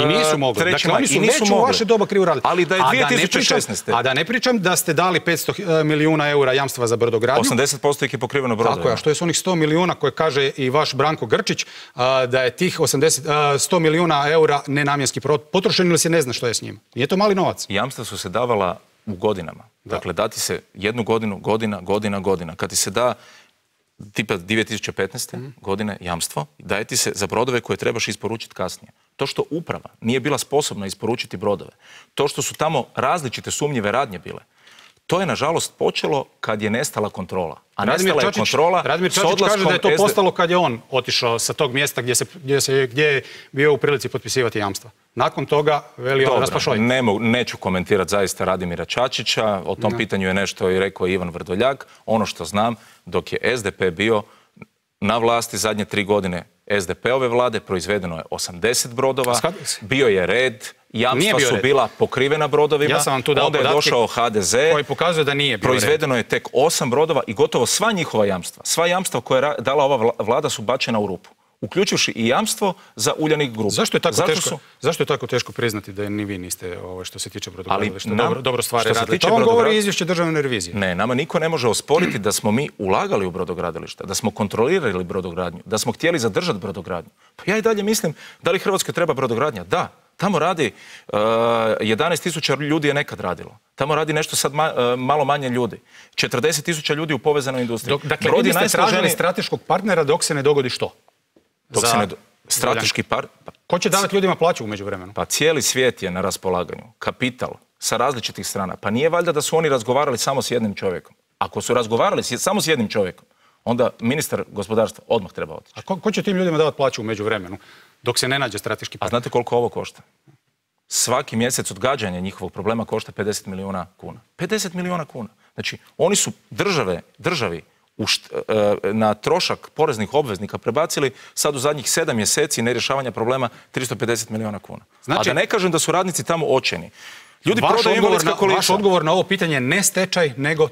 I nisu mogli. Dakle, oni su već u vaše doba krivo radili. Ali da je 2016. A da ne pričam da ste dali 500 milijuna eura jamstva za brodogradnju. 80% ih je pokriveno brodovima. Tako je, a što je s onih 100 milijuna koje kaže i vaš Branko Grčić, da je tih 100 milijuna eura nenamjenski potrošen ili se ne zna što je s njima. Nije to mali novac. Jamstva su se davala u godinama. Dakle, dati se jednu godinu, godina. Kad ti se da tipa 2015. godine jamstvo, daje ti se za brodove koje trebaš isporučiti kasnije. To što uprava nije bila sposobna isporučiti brodove, to što su tamo različite sumnjive radnje bile, To je, nažalost, počelo kad je nestala kontrola. A nestala je kontrola Radimir s Čačić odlaskom kaže da je to postalo kad je on otišao sa tog mjesta gdje je bio u prilici potpisivati jamstva. Nakon toga veli on raspašoj. Neću komentirati zaista Radimira Čačića. O tom pitanju je nešto i rekao Ivan Vrdoljak. Ono što znam, dok je SDP bio na vlasti zadnje 3 godine SDP-ove vlade, proizvedeno je 80 brodova, bio je red, jamstva su bila pokrivena brodovima, onda je došao HDZ, koji pokazuje da nije bio proizvedeno je tek 8 brodova i gotovo sva njihova jamstva, sva jamstva koje je dala ova vlada su bačena u rupu, uključujući i jamstvo za Uljanik grupu. Zašto je tako teško priznati da ni vi niste, što se tiče brodogradilišta, dobro stvari radili? To vam govori izvješće državne revizije. Ne, nama niko ne može osporiti da smo mi ulagali u brodogradilišta, da smo kontrolirali brodogradnju, da smo htjeli zadržati brodogradnju. Pa ja i dalje mislim, da li Hrvatskoj treba brodogradnja? Da. Tamo radi 11.000 ljudi je nekad radilo. Tamo radi nešto sad malo manje ljudi. 40.000 ljudi u povezanoj industriji. Dakle, vi biste tražili strateškog partnera dok se ne dogodi što? Strateški partner. Ko će davati ljudima plaću u međuvremenu? Pa cijeli svijet je na raspolaganju. Kapital sa različitih strana. Pa nije valjda da su oni razgovarali samo s jednim čovjekom. Ako su razgovarali samo s jednim čovjekom, onda ministar gospodarstva odmah treba otići. A ko će tim ljudima davati plaću u međuvremenu dok se ne nađe strateški partner? A znate koliko ovo košta? Svaki mjesec odgađanja njihovog problema košta 50 milijuna kuna. 50 milijuna kuna. Znači, oni su državi na trošak poreznih obveznika prebacili sad u zadnjih 7 mjeseci nerješavanja problema 350 milijuna kuna. Znači, a da ne kažem da su radnici tamo očajni. Ljudi prodaju invalidska kolica. Vaš odgovor na ovo pitanje je ne stečaj, nego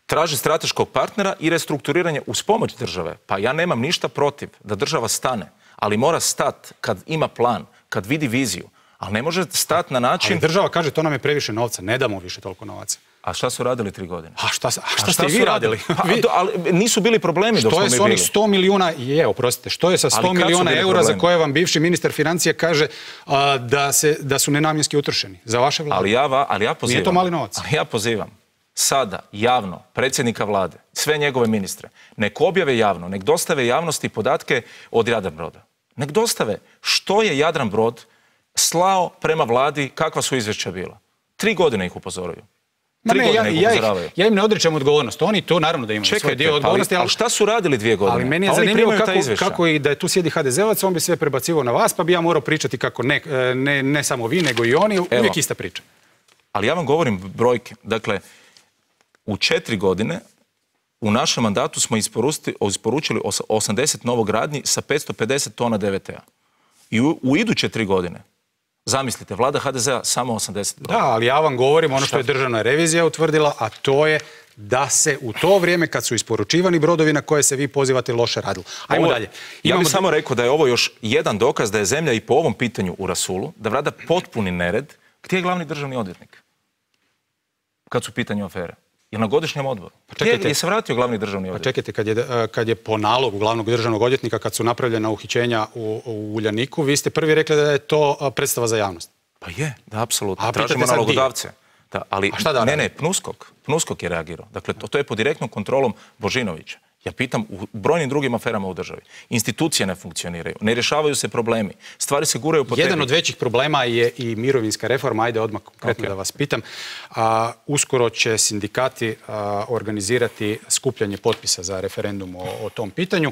traži strateškog partnera i restrukturiranje uz pomoć države. Pa ja nemam ništa protiv da država stane, ali mora stat kad ima plan, kad vidi viziju. Ali ne može stati na način... Ali država kaže to nam je previše novca, ne damo više toliko novaca. A šta su radili 3 godine? A šta ste vi radili? Ali nisu bili problemi dok smo mi bili. Što je s onih 100 milijuna, oprostite, što je sa 100 milijuna eura za koje vam bivši ministar financija kaže da su nenamjenski utrošeni za vaše vlade? Ali ja pozivam... Nije to mali novac. Ali ja pozivam sada javno predsjednika vlade, sve njegove ministre, nek objave javno, nek dostave javnosti podatke od Jadranbroda. Nek dostave što je Jadranbrod slao prema vladi, kakva su izvješća bila. 3 godine ih upozoruju. Ja im ne odričem odgovornost. Oni to naravno da imaju svoj dio odgovornosti. Ali šta su radili 2 godine? Ali meni je zanimljivo kako i da je tu sjedi HDZ-ovac, on bi sve prebacivao na vas, pa bi ja morao pričati kako ne samo vi, nego i oni. Uvijek ista priča. Ali ja vam govorim brojke. Dakle, u 4 godine u našem mandatu smo isporučili 80 novogradnji sa 550 tona DVT-a. I u iduće 3 godine, zamislite, vlada HDZ-a samo 80 brodova. Da, ali ja vam govorim ono što je državna revizija utvrdila, a to je da se u to vrijeme kad su isporučivani brodovi na koje se vi pozivate loše radilo. Ajmo dalje. Ja bih samo rekao da je ovo još jedan dokaz da je zemlja i po ovom pitanju u rasulu, da vlada potpuni nered. Gdje je glavni državni odvjetnik? Kad su u pitanju afere? Je na godišnjem odboru. Je se vratio glavni državni odvjetnik? Pa čekajte, kad je po nalogu glavnog državnog odvjetnika, kad su napravljena uhićenja u Uljaniku, vi ste prvi rekli da je to predstava za javnost. Pa je, da, apsolutno. Tražimo nalogodavce. Ali, ne, PNUSKOK je reagirao. Dakle, to je pod direktnom kontrolom Božinovića. Ja pitam u brojnim drugim aferama u državi. Institucije ne funkcioniraju, ne rješavaju se problemi, stvari se guraju po tebi. Jedan od većih problema je i mirovinska reforma, ajde odmah konkretno da vas pitam. Uskoro će sindikati organizirati skupljanje potpisa za referendum o tom pitanju.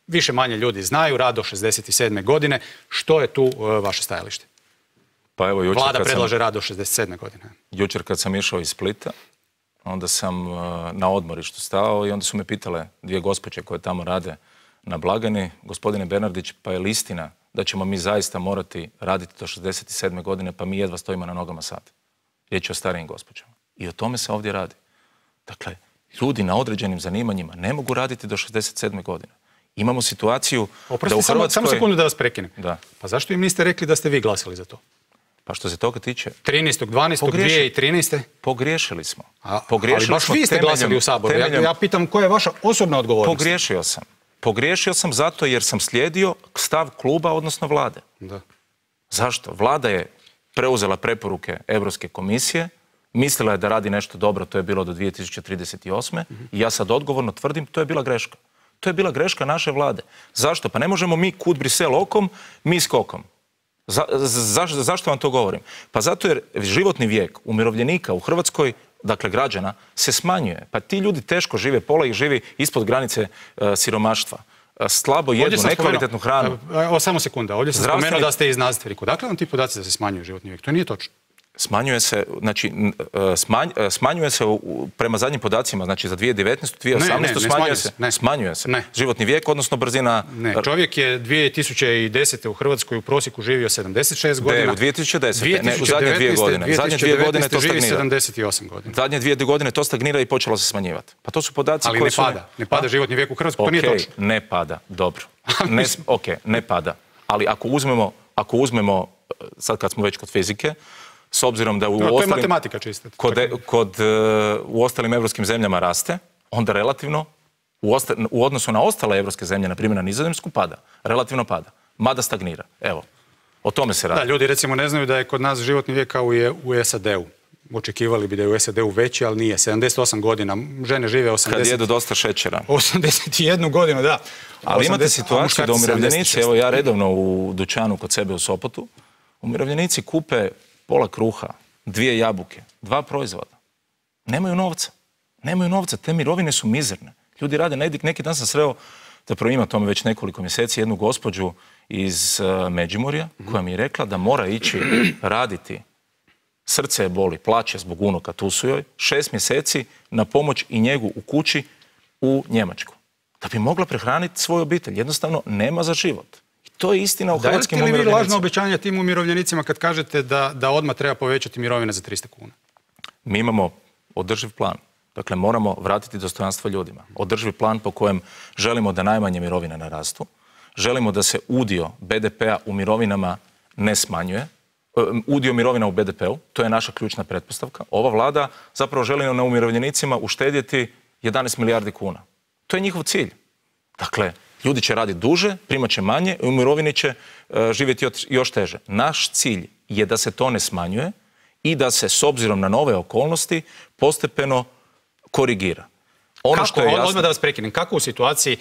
Više manje ljudi znaju, rad do 67. godine. Što je tu vaše stajalište? Pa evo, Vlada predlaže rad do 67. godine. Jučer kad sam išao iz Splita, onda sam na odmorištu stao i onda su me pitale 2 gospođe koje tamo rade na blagajni, gospodine Bernardić, pa je li istina da ćemo mi zaista morati raditi do 67. godine, pa mi jedva stojimo na nogama sad. Riječ je o starijim gospođama. I o tome se ovdje radi. Dakle, ljudi na određenim zanimanjima ne mogu raditi do 67. godine. Imamo situaciju da u Hrvatskoj... Samo sekundu da vas prekinem. Da. Pa zašto im niste rekli da ste vi glasili za to? Pa što se toga tiče... 13.12.2013. Pogriješili smo. Ali baš vi ste glasili u Saboru. Ja pitam koja je vaša osobna odgovornost. Pogriješio sam zato jer sam slijedio stav kluba, odnosno vlade. Da. Zašto? Vlada je preuzela preporuke Europske komisije, mislila je da radi nešto dobro, to je bilo do 2038. I ja sad odgovorno tvrdim, to je bila greška. To je bila greška naše vlade. Zašto? Pa ne možemo mi kud Brisel okom, mi skokom. Zašto vam to govorim? Pa zato jer životni vijek umirovljenika u Hrvatskoj dakle građana, se smanjuje. Pa ti ljudi teško žive, pola ih živi ispod granice siromaštva. Slabo jedu, nekvalitetnu hranu. Samo sekunda, ovdje sam spomenuo da ste iznadstvenik. Dakle vam ti podaci da se smanjuje životni vijek? To nije točno. Smanjuje se, znači, smanjuje se prema zadnjim podacima, znači za 2019. 2018. Smanjuje se. Životni vijek, odnosno brzina... Ne, čovjek je 2010. u Hrvatskoj u prosjeku živio 76 godina. Ne, u 2010. Ne, u zadnje 2 godine. Zadnje 2 godine to stagnira. 78 godina. Zadnje 2 godine to stagnira i počelo se smanjivati. Pa to su podaci koji su... Ali ne pada životni vijek u Hrvatskoj, to nije točno. Ne pada, dobro. Ne pada. Ali ako uzmemo, sad kad smo već kod fizike, s obzirom da u ostalim evropskim zemljama raste, onda relativno u odnosu na ostale evropske zemlje, na primjer na Nizozemsku, pada. Relativno pada. Mada stagnira. Evo, o tome se radi. Da, ljudi recimo ne znaju da je kod nas životni vijek kao je u SAD-u. Očekivali bi da je u SAD-u veći, ali nije. 78 godina. Žene žive 80... Kad jedu dosta šećera. 81 godinu, da. Ali imate situaciju da umirovljenici, evo ja redovno u dućanu kod sebe u Sopotu, umirovljenici kupe pola kruha, 2 jabuke, 2 proizvoda. Nemaju novca, te mirovine su mizerne. Ljudi rade, neki dan sam sreo, zapravo ima tome već nekoliko mjeseci, jednu gospođu iz Međimurja koja mi je rekla da mora ići raditi, srce je boli, plaće zbog unuka, tu su joj, 6 mjeseci na pomoć i njegu u kući u Njemačku. Da bi mogla prehraniti svoju obitelj. Jednostavno nema za život. To je istina u hrvatskim umirovljenicima. Dajete li vi lažno obećanje tim umirovljenicima kad kažete da odmah treba povećati mirovine za 300 kuna? Mi imamo održiv plan. Dakle, moramo vratiti dostojanstvo ljudima. Održiv plan po kojem želimo da najmanje mirovine narastu. Želimo da se udio BDP-a u mirovinama ne smanjuje. Udio mirovina u BDP-u, to je naša ključna pretpostavka. Ova vlada zapravo želi na umirovljenicima uštedjeti 11 milijardi kuna. To je njihov cilj. Dakle, ljudi će raditi duže, primat će manje i u mirovini će živjeti još teže. Naš cilj je da se to ne smanjuje i da se s obzirom na nove okolnosti postepeno korigira. Odmah da vas prekinem, kako u situaciji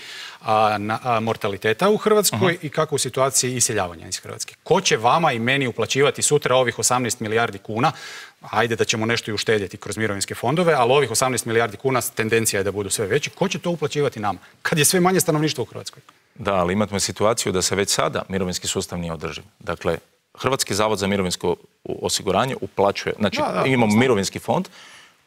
mortaliteta u Hrvatskoj i kako u situaciji iseljavanja iz Hrvatske? Ko će vama i meni uplaćivati sutra ovih 18 milijardi kuna? Ajde da ćemo nešto i uštedjeti kroz mirovinske fondove, ali ovih 18 milijardi kuna tendencija je da budu sve veći. Ko će to uplaćivati nama? Kad je sve manje stanovništva u Hrvatskoj? Da, ali imamo situaciju da se već sada mirovinski sustav nije održiv. Dakle, Hrvatski zavod za mirovinsko osiguranje uplaćuje, znači imamo mirovinski fond,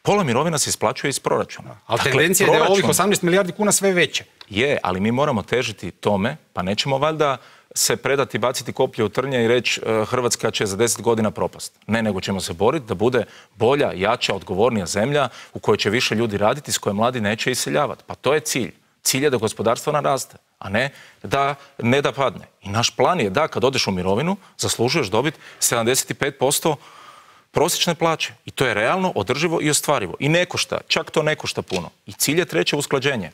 pola mirovina se isplaćuje iz proračuna. Ali tendencija je da je ovih 18 milijardi kuna sve veće. Je, ali mi moramo težiti tome, pa nećemo valjda se predati, baciti koplje u trnje i reći Hrvatska će za 10 godina propast. Ne, nego ćemo se boriti da bude bolja, jača, odgovornija zemlja u kojoj će više ljudi raditi, s koje mladi neće iseljavati. Pa to je cilj. Cilj je da gospodarstvo naraste, a ne da padne. I naš plan je da kad odeš u mirovinu zaslužuješ dobiti 75% prosječne plaće. I to je realno, održivo i ostvarivo. I ne košta, čak to ne košta puno. I cilj je treće usklađenje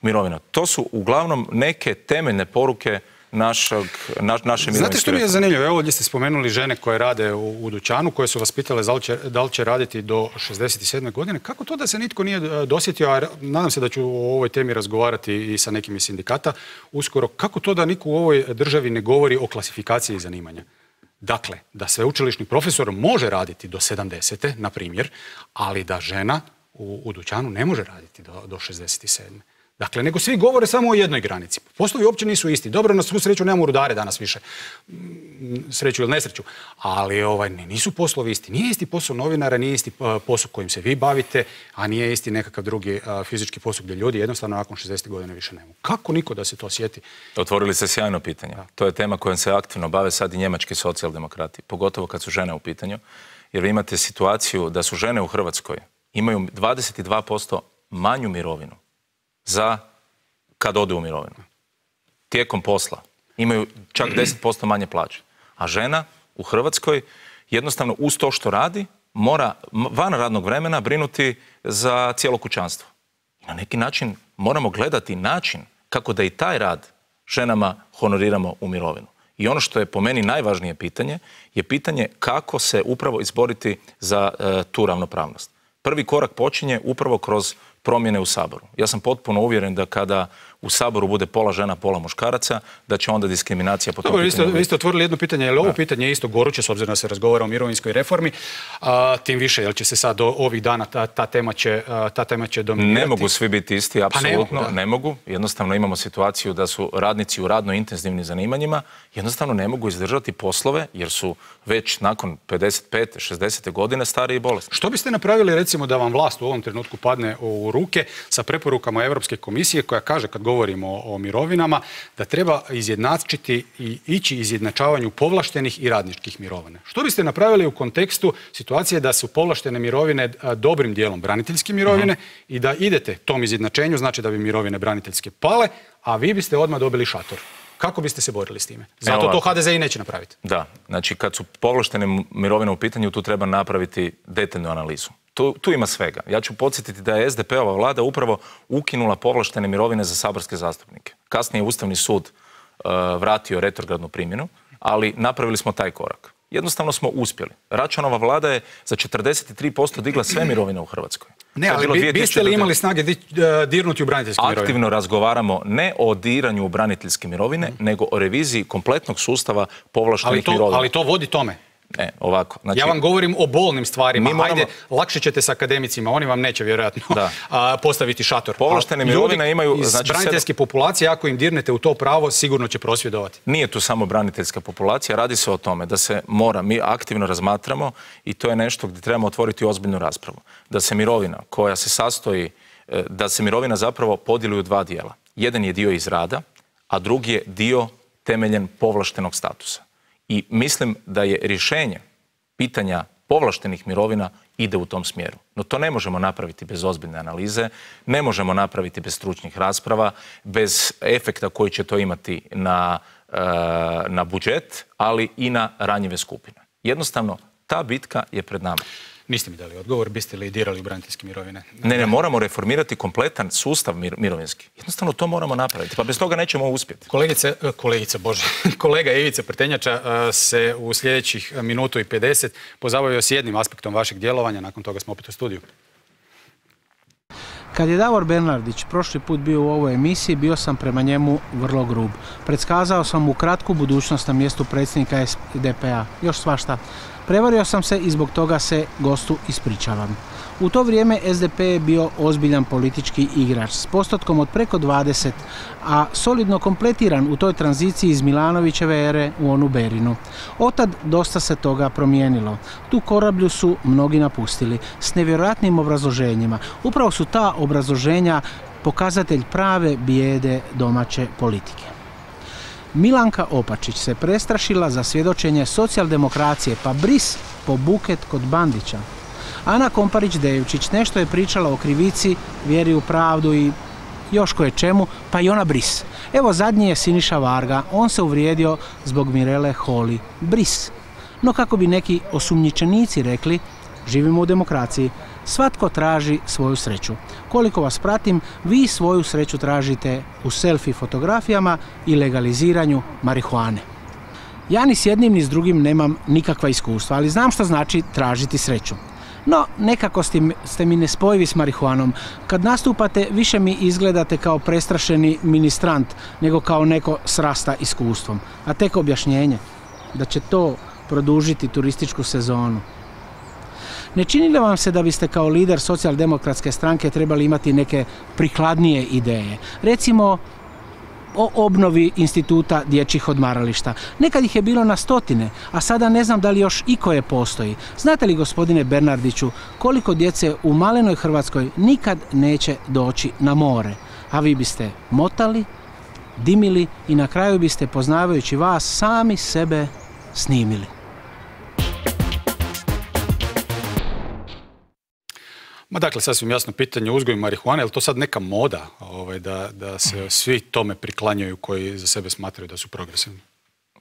mirovina. To su uglavnom neke temeljne poruke naše mirovinske reforme. Znate što mi je zanimljivo? Evo ovdje ste spomenuli žene koje rade u dućanu, koje su vas pitale da li će raditi do 67. godine. Kako to da se nitko nije dosjetio, a nadam se da ću o ovoj temi razgovarati i sa nekim iz sindikata uskoro, kako to da niko u ovoj državi ne govori o klasifikaciji zanimanja? Dakle, da sveučilišni profesor može raditi do 70. na primjer, ali da žena u dućanu ne može raditi do 67. Dakle, nego svi govore samo o jednoj granici. Poslovi uopće nisu isti. Dobro, na svu sreću nemamo rudare danas više. Sreću ili nesreću. Ali nisu poslovi isti. Nije isti posao novinara, nije isti posao kojim se vi bavite, a nije isti nekakav drugi fizički posao gdje ljudi jednostavno nakon 60 godina više nemaju. Kako niko da se to sjeti? Otvorili ste sjajno pitanje. To je tema kojom se aktivno bave sad i njemački socijaldemokrati. Pogotovo kad su žene u pitanju. Jer vi imate situaciju da su žene u Hrvatskoj imaju 22% manju mirovinu za kad ode u mirovinu. Tijekom posla imaju čak 10% manje plaće. A žena u Hrvatskoj jednostavno uz to što radi mora van radnog vremena brinuti za cijelo kućanstvo. I na neki način moramo gledati način kako da i taj rad ženama honoriramo u mirovinu. I ono što je po meni najvažnije pitanje je pitanje kako se upravo izboriti za tu ravnopravnost. Prvi korak počinje upravo kroz promjene u Saboru. Ja sam potpuno uvjeren da kada u Saboru bude pola žena, pola muškaraca, da će onda diskriminacija po tom pitanju. Vi ste otvorili jedno pitanje, je li ovo pitanje isto goruće, s obzirom da se razgovara o mirovinskoj reformi, tim više, jel će se sad ovih dana ta tema će dominirati? Ne mogu svi biti isti, apsolutno ne mogu. Jednostavno imamo situaciju da su radnici u radno intenzivnim zanimanjima, jednostavno ne mogu izdržati poslove jer su već nakon 55. 60. godine stari i bolesni. Što biste napravili recimo da vam vlast u ovom trenutku padne u ruke sa preporukama Europske komisije koja kaže kad govorimo o mirovinama da treba izjednačiti i ići izjednačavanju povlaštenih i radničkih mirovina? Što biste napravili u kontekstu situacije da su povlaštene mirovine dobrim dijelom braniteljske mirovine i da idete tom izjednačenju, znači da bi mirovine braniteljske pale, a vi biste odmah dobili šator? Kako biste se borili s time? Zato to HDZ i neće napraviti. Da, znači kad su povlaštene mirovine u pitanju, tu treba napraviti detaljnu analizu. Tu ima svega. Ja ću podsjetiti da je SDP-ova vlada upravo ukinula povlaštene mirovine za saborske zastupnike. Kasnije je Ustavni sud vratio retrogradnu primjenu, ali napravili smo taj korak. Jednostavno smo uspjeli. Račanova vlada je za 43% digla sve mirovine u Hrvatskoj. Ne, ali biste li imali snage dirnuti u braniteljske mirovine? Aktivno razgovaramo ne o diranju u braniteljske mirovine, nego o reviziji kompletnog sustava povlaštenih mirovina. Ali to vodi tome. Ne, ovako. Znači, ja vam govorim o bolnim stvarima. Ajde, lakše ćete s akademicima, oni vam neće vjerojatno postaviti šator. Povlaštene mirovine imaju... Iz braniteljske populacije, ako im dirnete u to pravo, sigurno će prosvjedovati. Nije tu samo braniteljska populacija, radi se o tome da se mora, mi aktivno razmatramo i to je nešto gdje trebamo otvoriti ozbiljnu raspravu. Da se mirovina koja se sastoji, da se mirovina zapravo podijeli u dva dijela. Jedan je dio iz rada, a drugi je dio temeljen povlaštenog statusa. I mislim da je rješenje pitanja povlaštenih mirovina ide u tom smjeru. No to ne možemo napraviti bez ozbiljne analize, ne možemo napraviti bez stručnih rasprava, bez efekta koji će to imati na budžet, ali i na ranjive skupine. Jednostavno, ta bitka je pred nama. Niste mi dali odgovor, biste li dirali u braniteljske mirovine? Ne, moramo reformirati kompletan sustav mirovinski. Jednostavno to moramo napraviti, pa bez toga nećemo uspjeti. Kolega Ivica Prtenjača se u sljedećih minutu i 50 pozabavio s jednim aspektom vašeg djelovanja, nakon toga smo opet u studiju. Kad je Davor Bernardić prošli put bio u ovoj emisiji, bio sam prema njemu vrlo grub. Predskazao sam mu kratku budućnost na mjestu predsjednika SDP-a. Još svašta. Prevario sam se i zbog toga se gostu ispričavam. U to vrijeme SDP je bio ozbiljan politički igrač s postotkom od preko 20, a solidno kompletiran u toj tranziciji iz Milanovićeve ere u onu Berinu. Otad dosta se toga promijenilo. Tu korablju su mnogi napustili s nevjerojatnim obrazloženjima. Upravo su ta obrazloženja pokazatelj prave bijede domaće politike. Milanka Opačić se prestrašila za svjedočenje socijaldemokracije, pa bris po buket kod Bandića. Ana Komparić-Devčić nešto je pričala o krivici, vjeri u pravdu i još koje čemu, pa i ona bris. Evo zadnji je Siniša Varga, on se uvrijedio zbog Mirele Holy. Bris. No kako bi neki osumnjičenici rekli, živimo u demokraciji, svatko traži svoju sreću. Koliko vas pratim, vi svoju sreću tražite u selfie fotografijama i legaliziranju marihuane. Ja ni s jednim ni s drugim nemam nikakva iskustva, ali znam što znači tražiti sreću. No, nekako ste mi nespojivi s marihuanom. Kad nastupate, više mi izgledate kao prestrašeni ministrant, nego kao neko s rasta iskustvom. A tek objašnjenje da će to produžiti turističku sezonu. Ne čini li vam se da biste kao lider socijaldemokratske stranke trebali imati neke prikladnije ideje? Recimo o obnovi instituta dječjih odmarališta. Nekad ih je bilo na stotine, a sada ne znam da li još ikoje postoji. Znate li, gospodine Bernardiću, koliko djece u malenoj Hrvatskoj nikad neće doći na more? A vi biste motali, dimili i na kraju biste, poznavajući vas, sami sebe snimili. Ma dakle, sasvim jasno pitanje uzgoj marihuane, je li to sad neka moda da se svi tome priklanjaju koji za sebe smatraju da su progresivni?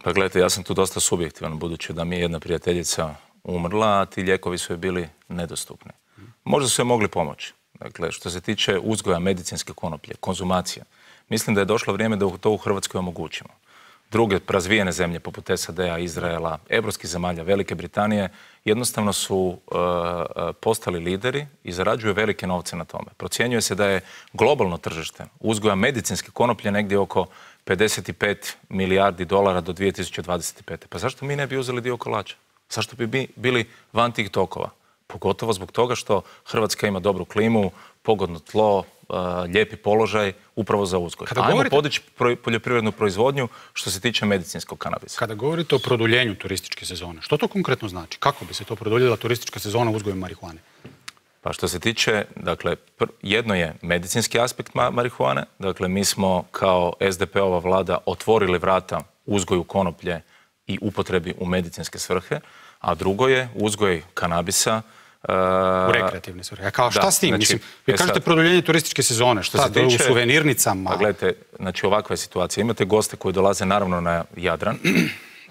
Pa gledajte, ja sam tu dosta subjektivan, budući da mi je jedna prijateljica umrla, a ti lijekovi su joj bili nedostupni. Možda su joj mogli pomoći. Dakle, što se tiče uzgoja medicinske konoplje, konzumacija, mislim da je došlo vrijeme da to u Hrvatskoj omogućimo. druge razvijene zemlje poput SAD-a, Izraela, evropskih zemalja, Velike Britanije, jednostavno su postali lideri i zarađuju velike novce na tome. Procjenjuje se da je globalno tržište uzgoja medicinske konoplje negdje oko 55 milijardi dolara do 2025. Pa zašto mi ne bi uzeli dio kolača? Zašto bi bili van tih tokova? Pogotovo zbog toga što Hrvatska ima dobru klimu, pogodno tlo, lijepi položaj upravo za uzgoj. Ajmo podići poljoprivrednu proizvodnju što se tiče medicinskog kanabisa. Kada govorite o produljenju turističke sezone, što to konkretno znači? Kako bi se to produljila turistička sezona uzgojem marihuane? Pa što se tiče, dakle, jedno je medicinski aspekt marihuane. Dakle, mi smo kao SDP-ova vlada otvorili vrata uzgoju konoplje i upotrebi u medicinske svrhe, a drugo je uzgoj kanabisa u rekreativne svrhe. A kao šta s tim? Mislim, vi kažete produljenje turističke sezone, šta u suvenirnicama? Pa gledajte, znači ovakva je situacija. Imate goste koji dolaze naravno na Jadran,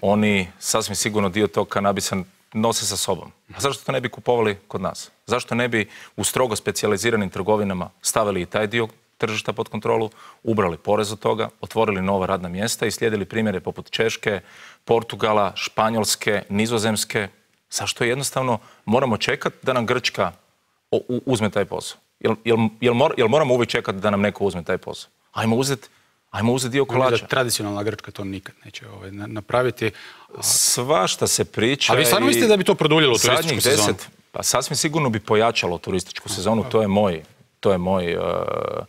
oni sasvim sigurno dio tog kanabisa nose sa sobom. A zašto to ne bi kupovali kod nas? Zašto ne bi u strogo specijaliziranim trgovinama stavili i taj dio tržišta pod kontrolu, ubrali porez od toga, otvorili nova radna mjesta i slijedili primjere poput Češke, Portugala, Španjolske, Nizozemske? Zašto jednostavno moramo čekati da nam Grčka uzme taj posao? Jel moramo uvijek čekati da nam neko uzme taj posao? Ajmo uzeti dio kolača. Tradicionalna Grčka to nikad neće napraviti. Svašta se priča. A vi stvarno mislite da bi to produljilo turističku sezonu? Pa sasvim sigurno bi pojačalo turističku sezonu, to je moj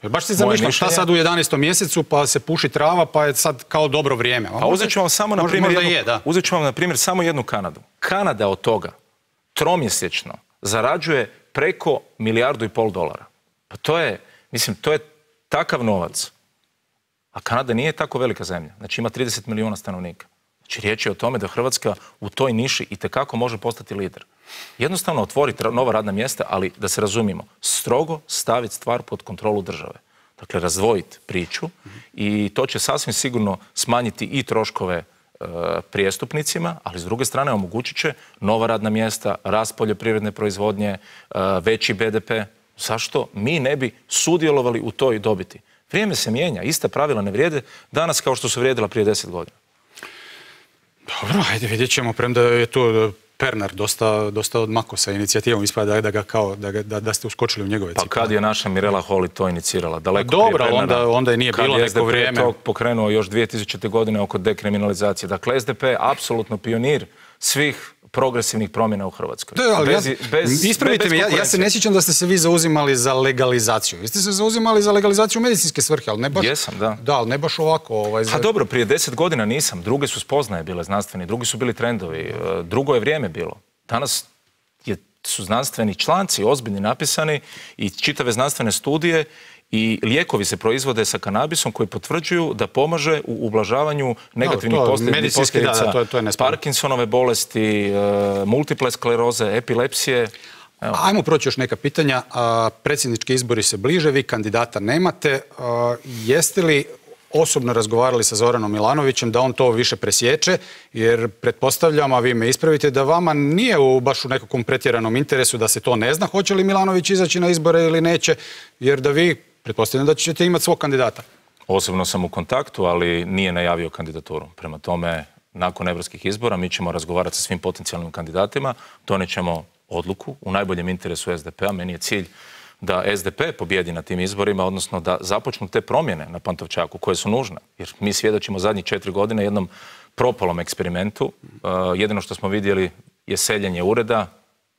baš si zamišljam šta sad u 11. mjesecu pa se puši trava pa je sad kao dobro vrijeme. A uzet ću vam samo na primjer samo jednu Kanadu. Kanada od toga tromjesečno zarađuje preko $1,5 milijardu. Pa to je takav novac. A Kanada nije tako velika zemlja. Znači ima 30 milijuna stanovnika. Znači riječ je o tome da Hrvatska u toj niši itekako može postati lider. Jednostavno otvoriti nova radna mjesta, ali da se razumijemo, strogo staviti stvar pod kontrolu države. Dakle, razdvojiti priču i to će sasvim sigurno smanjiti i troškove prijestupnicima, ali s druge strane omogućit će nova radna mjesta, rast poljoprivredne proizvodnje, veći BDP. Zašto mi ne bi sudjelovali u toj dobiti? Vrijeme se mijenja, ista pravila ne vrijede danas kao što su vrijedila prije 10 godina. Dobro, ajde vidjet ćemo, premda je to Pernar dosta odmako sa inicijativom, ispada da ste uskočili u njegove cipele. Pa kad je naša Mirela Holy to inicirala? Daleko dobro, onda je nije bilo neko vrijeme. Kad je SDP to pokrenuo još 2000. godine oko dekriminalizacije. Dakle, SDP je apsolutno pionir svih progresivnih promjena u Hrvatskoj. Ispravite me, ja se ne sjećam da ste se vi zauzimali za legalizaciju. Vi ste se zauzimali za legalizaciju medicinske svrhe, ali ne baš... Jesam, da. Da, ali ne baš ovako... A dobro, prije 10 godina nisam. Druge su spoznaje bile znanstveni, drugi su bili trendovi, drugo je vrijeme bilo. Danas su znanstveni članci ozbiljni napisani i čitave znanstvene studije i lijekovi se proizvode sa kanabisom koji potvrđuju da pomaže u ublažavanju negativnih posljedica Parkinsonove bolesti, multiple skleroze, epilepsije. Ajmo proći još neka pitanja. Predsjednički izbori se bliže, vi kandidata nemate. Jeste li osobno razgovarali sa Zoranom Milanovićem da on to više presječe, jer pretpostavljam, a vi me ispravite, da vama nije baš u nekakvom pretjeranom interesu da se to ne zna hoće li Milanović izaći na izbore ili neće, jer da vi pretpostavljam da ćete imati svog kandidata. Osobno sam u kontaktu, ali nije najavio kandidaturu. Prema tome, nakon evropskih izbora mi ćemo razgovarati sa svim potencijalnim kandidatima, donijet ćemo odluku u najboljem interesu SDP-a. Meni je cilj da SDP pobjedi na tim izborima, odnosno da započnu te promjene na Pantovčaku koje su nužne. Jer mi svjedočimo zadnjih 4 godine jednom propalom eksperimentu. Jedino što smo vidjeli je seljenje ureda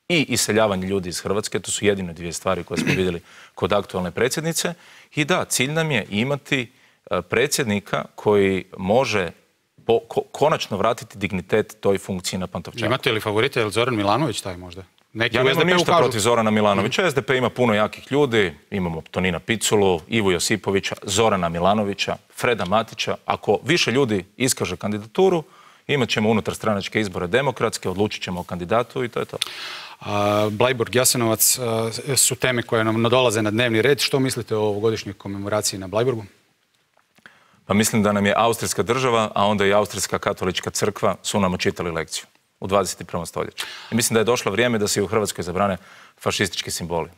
i iseljavanje ljudi iz Hrvatske. To su jedine dvije stvari koje smo vidjeli kod aktualne predsjednice. I da, cilj nam je imati predsjednika koji može konačno vratiti dignitet toj funkciji na Pantovčaku. Imate li favorite, je li Zoran Milanović taj možda? Ja nemam ništa protiv Zorana Milanovića. SDP ima puno jakih ljudi. Imamo Tonina Piculu, Ivu Josipovića, Zorana Milanovića, Freda Matića. Ako više ljudi iskaže kandidaturu, imat ćemo unutar stranačke izbore demokratske, odlučit ćemo o kandidatu i to je to. Bleiburg, Jasenovac su teme koje nam nadolaze na dnevni red. Što mislite o ovogodišnjoj komemoraciji na Bleiburgu? Pa mislim da nam je Austrijska država, a onda i Austrijska katolička crkva su nam čitali lekciju u 21. stoljeću. I mislim da je došlo vrijeme da se i u Hrvatskoj zabrane fašistički simboli.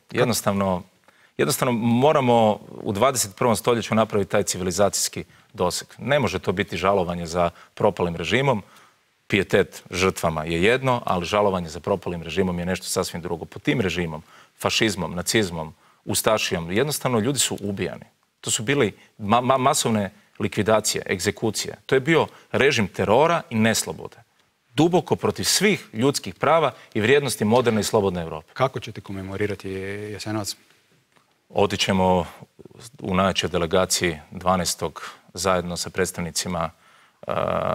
Jednostavno moramo u 21. stoljeću napraviti taj civilizacijski doseg. Ne može to biti žalovanje za propalim režimom. Pijetet žrtvama je jedno, ali žalovanje za propalim režimom je nešto sasvim drugo. Pod tim režimom, fašizmom, nacizmom, ustašijom, jednostavno ljudi su ubijani. To su bili masovne likvidacije, egzekucije. To je bio režim terora i neslobode. Duboko protiv svih ljudskih prava i vrijednosti moderne i slobodne Europe. Kako ćete komemorirati Jasenovac? Otićemo u najjačoj delegaciji 12. zajedno sa predstavnicima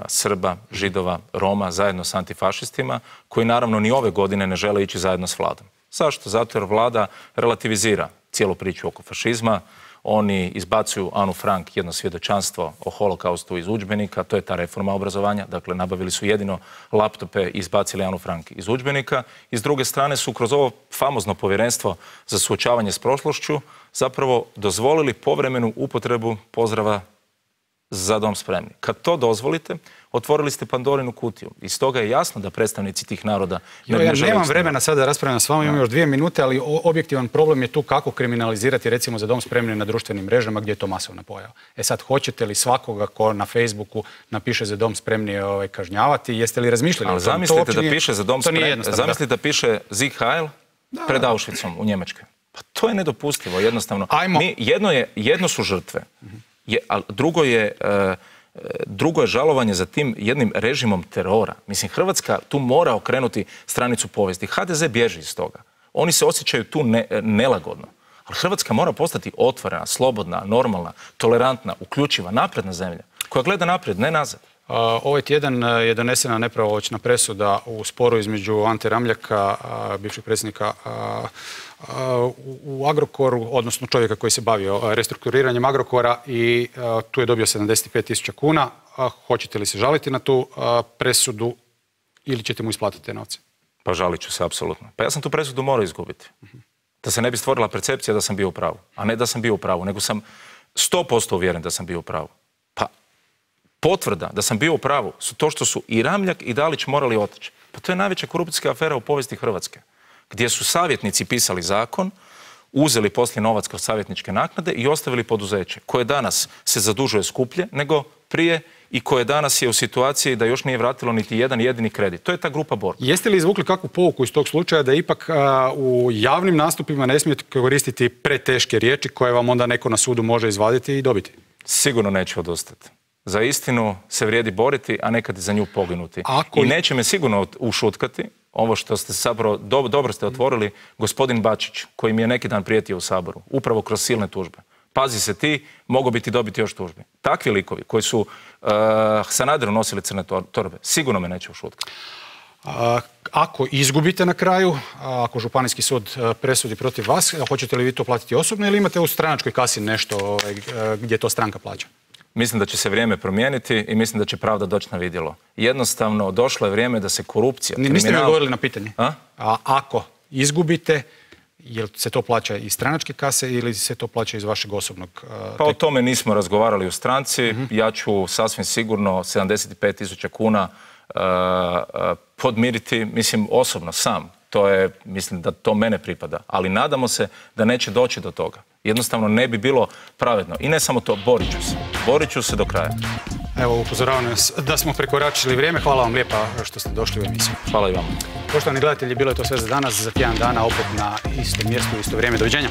Srba, Židova, Roma, zajedno s antifašistima, koji naravno ni ove godine ne žele ići zajedno s vladom. Zašto? Zato jer vlada relativizira cijelu priču oko fašizma. Oni izbacuju Anu Frank, jedno svjedočanstvo o holokaustu iz udžbenika, to je ta reforma obrazovanja, dakle nabavili su jedino laptope i izbacili Anu Frank iz udžbenika. I s druge strane su kroz ovo famozno povjerenstvo za suočavanje s prošlošću zapravo dozvolili povremenu upotrebu pozdrava Za dom spremni. Kad to dozvolite, otvorili ste Pandorinu kutiju. I stoga je jasno da predstavnici tih naroda ja nemam vremena sada da raspravljam s vama, imam još 2 minute, ali objektivan problem je tu kako kriminalizirati recimo Za dom spremni na društvenim mrežama gdje je to masovna pojava. Sad, hoćete li svakoga ko na Facebooku napiše Za dom spremni kažnjavati? Jeste li razmišljali? Ali zamislite da piše Za dom spremni, zamislite da piše Sieg Heil pred Auschwitzom u Njemačkoj. Pa to je nedopustivo, jednostavno. Jedno su žrtve. A drugo je žalovanje za tim jednim režimom terora. Mislim, Hrvatska tu mora okrenuti stranicu povijesti. HDZ bježi iz toga. Oni se osjećaju tu nelagodno. Ali Hrvatska mora postati otvorena, slobodna, normalna, tolerantna, uključiva, napredna zemlja, koja gleda naprijed, ne nazad. Ovaj tjedan je donesena nepravomoćna presuda u sporu između Ante Ramljaka, bivšeg predsjednika u Agrokoru, odnosno čovjeka koji se bavio restrukturiranjem Agrokora, i tu je dobio 75.000 kuna. Hoćete li se žaliti na tu presudu ili ćete mu isplatiti te novce? Pa žalit ću se, apsolutno. Pa ja sam tu presudu morao izgubiti. Da se ne bi stvorila percepcija da sam bio u pravu. A ne da sam bio u pravu, nego sam 100% uvjeren da sam bio u pravu. Pa potvrda da sam bio u pravu su to što su i Ramljak i Dalić morali otići. Pa to je najveća korupcijska afera u povijesti Hrvatske, gdje su savjetnici pisali zakon, uzeli poslije novac kroz savjetničke naknade i ostavili poduzeće koje danas se zadužuje skuplje nego prije i koje danas je u situaciji da još nije vratilo niti jedan jedini kredit. To je ta grupa Borg. Jeste li izvukli kakvu pouku iz tog slučaja da ipak u javnim nastupima ne smijete koristiti preteške riječi koje vam onda neko na sudu može izvaditi i dobiti? Sigurno neću odustati. Za istinu se vrijedi boriti, a nekad i za nju poginuti. I neće me sigurno ušutkati ovo što ste zapravo, dobro ste otvorili, gospodin Bačić, koji mi je neki dan prijetio u Saboru, upravo kroz silne tužbe. Pazi se ti, mogu biti dobiti još tužbe. Takvi likovi koji su Sanaderu nosili crne torbe, sigurno me neće ušutkati. Ako izgubite na kraju, ako Županijski sud presudi protiv vas, hoćete li vi to platiti osobno ili imate u stranačkoj kasi nešto gdje to stranka plaća? Mislim da će se vrijeme promijeniti i mislim da će pravda doći na vidjelo. Jednostavno, došlo je vrijeme da se korupcija, kriminal... Niste mi odgovorili na pitanje. A ako izgubite, jel se to plaća iz stranačke kase ili se to plaća iz vašeg osobnog... Pa o tome nismo razgovarali u stranci. Ja ću sasvim sigurno 75.000 kuna podmiriti, mislim, osobno, sam. To je, mislim da to mene pripada. Ali nadamo se da neće doći do toga. Jednostavno ne bi bilo pravedno. I ne samo to, borit ću se do kraja. Evo, upozoravam nas da smo prekoračili vrijeme. Hvala vam lijepa što ste došli u emisiju. Hvala i vama. Poštovani gledatelji, bilo je to sve za danas. Za tjedan dana opet na istom mjestu, isto vrijeme. Doviđenja.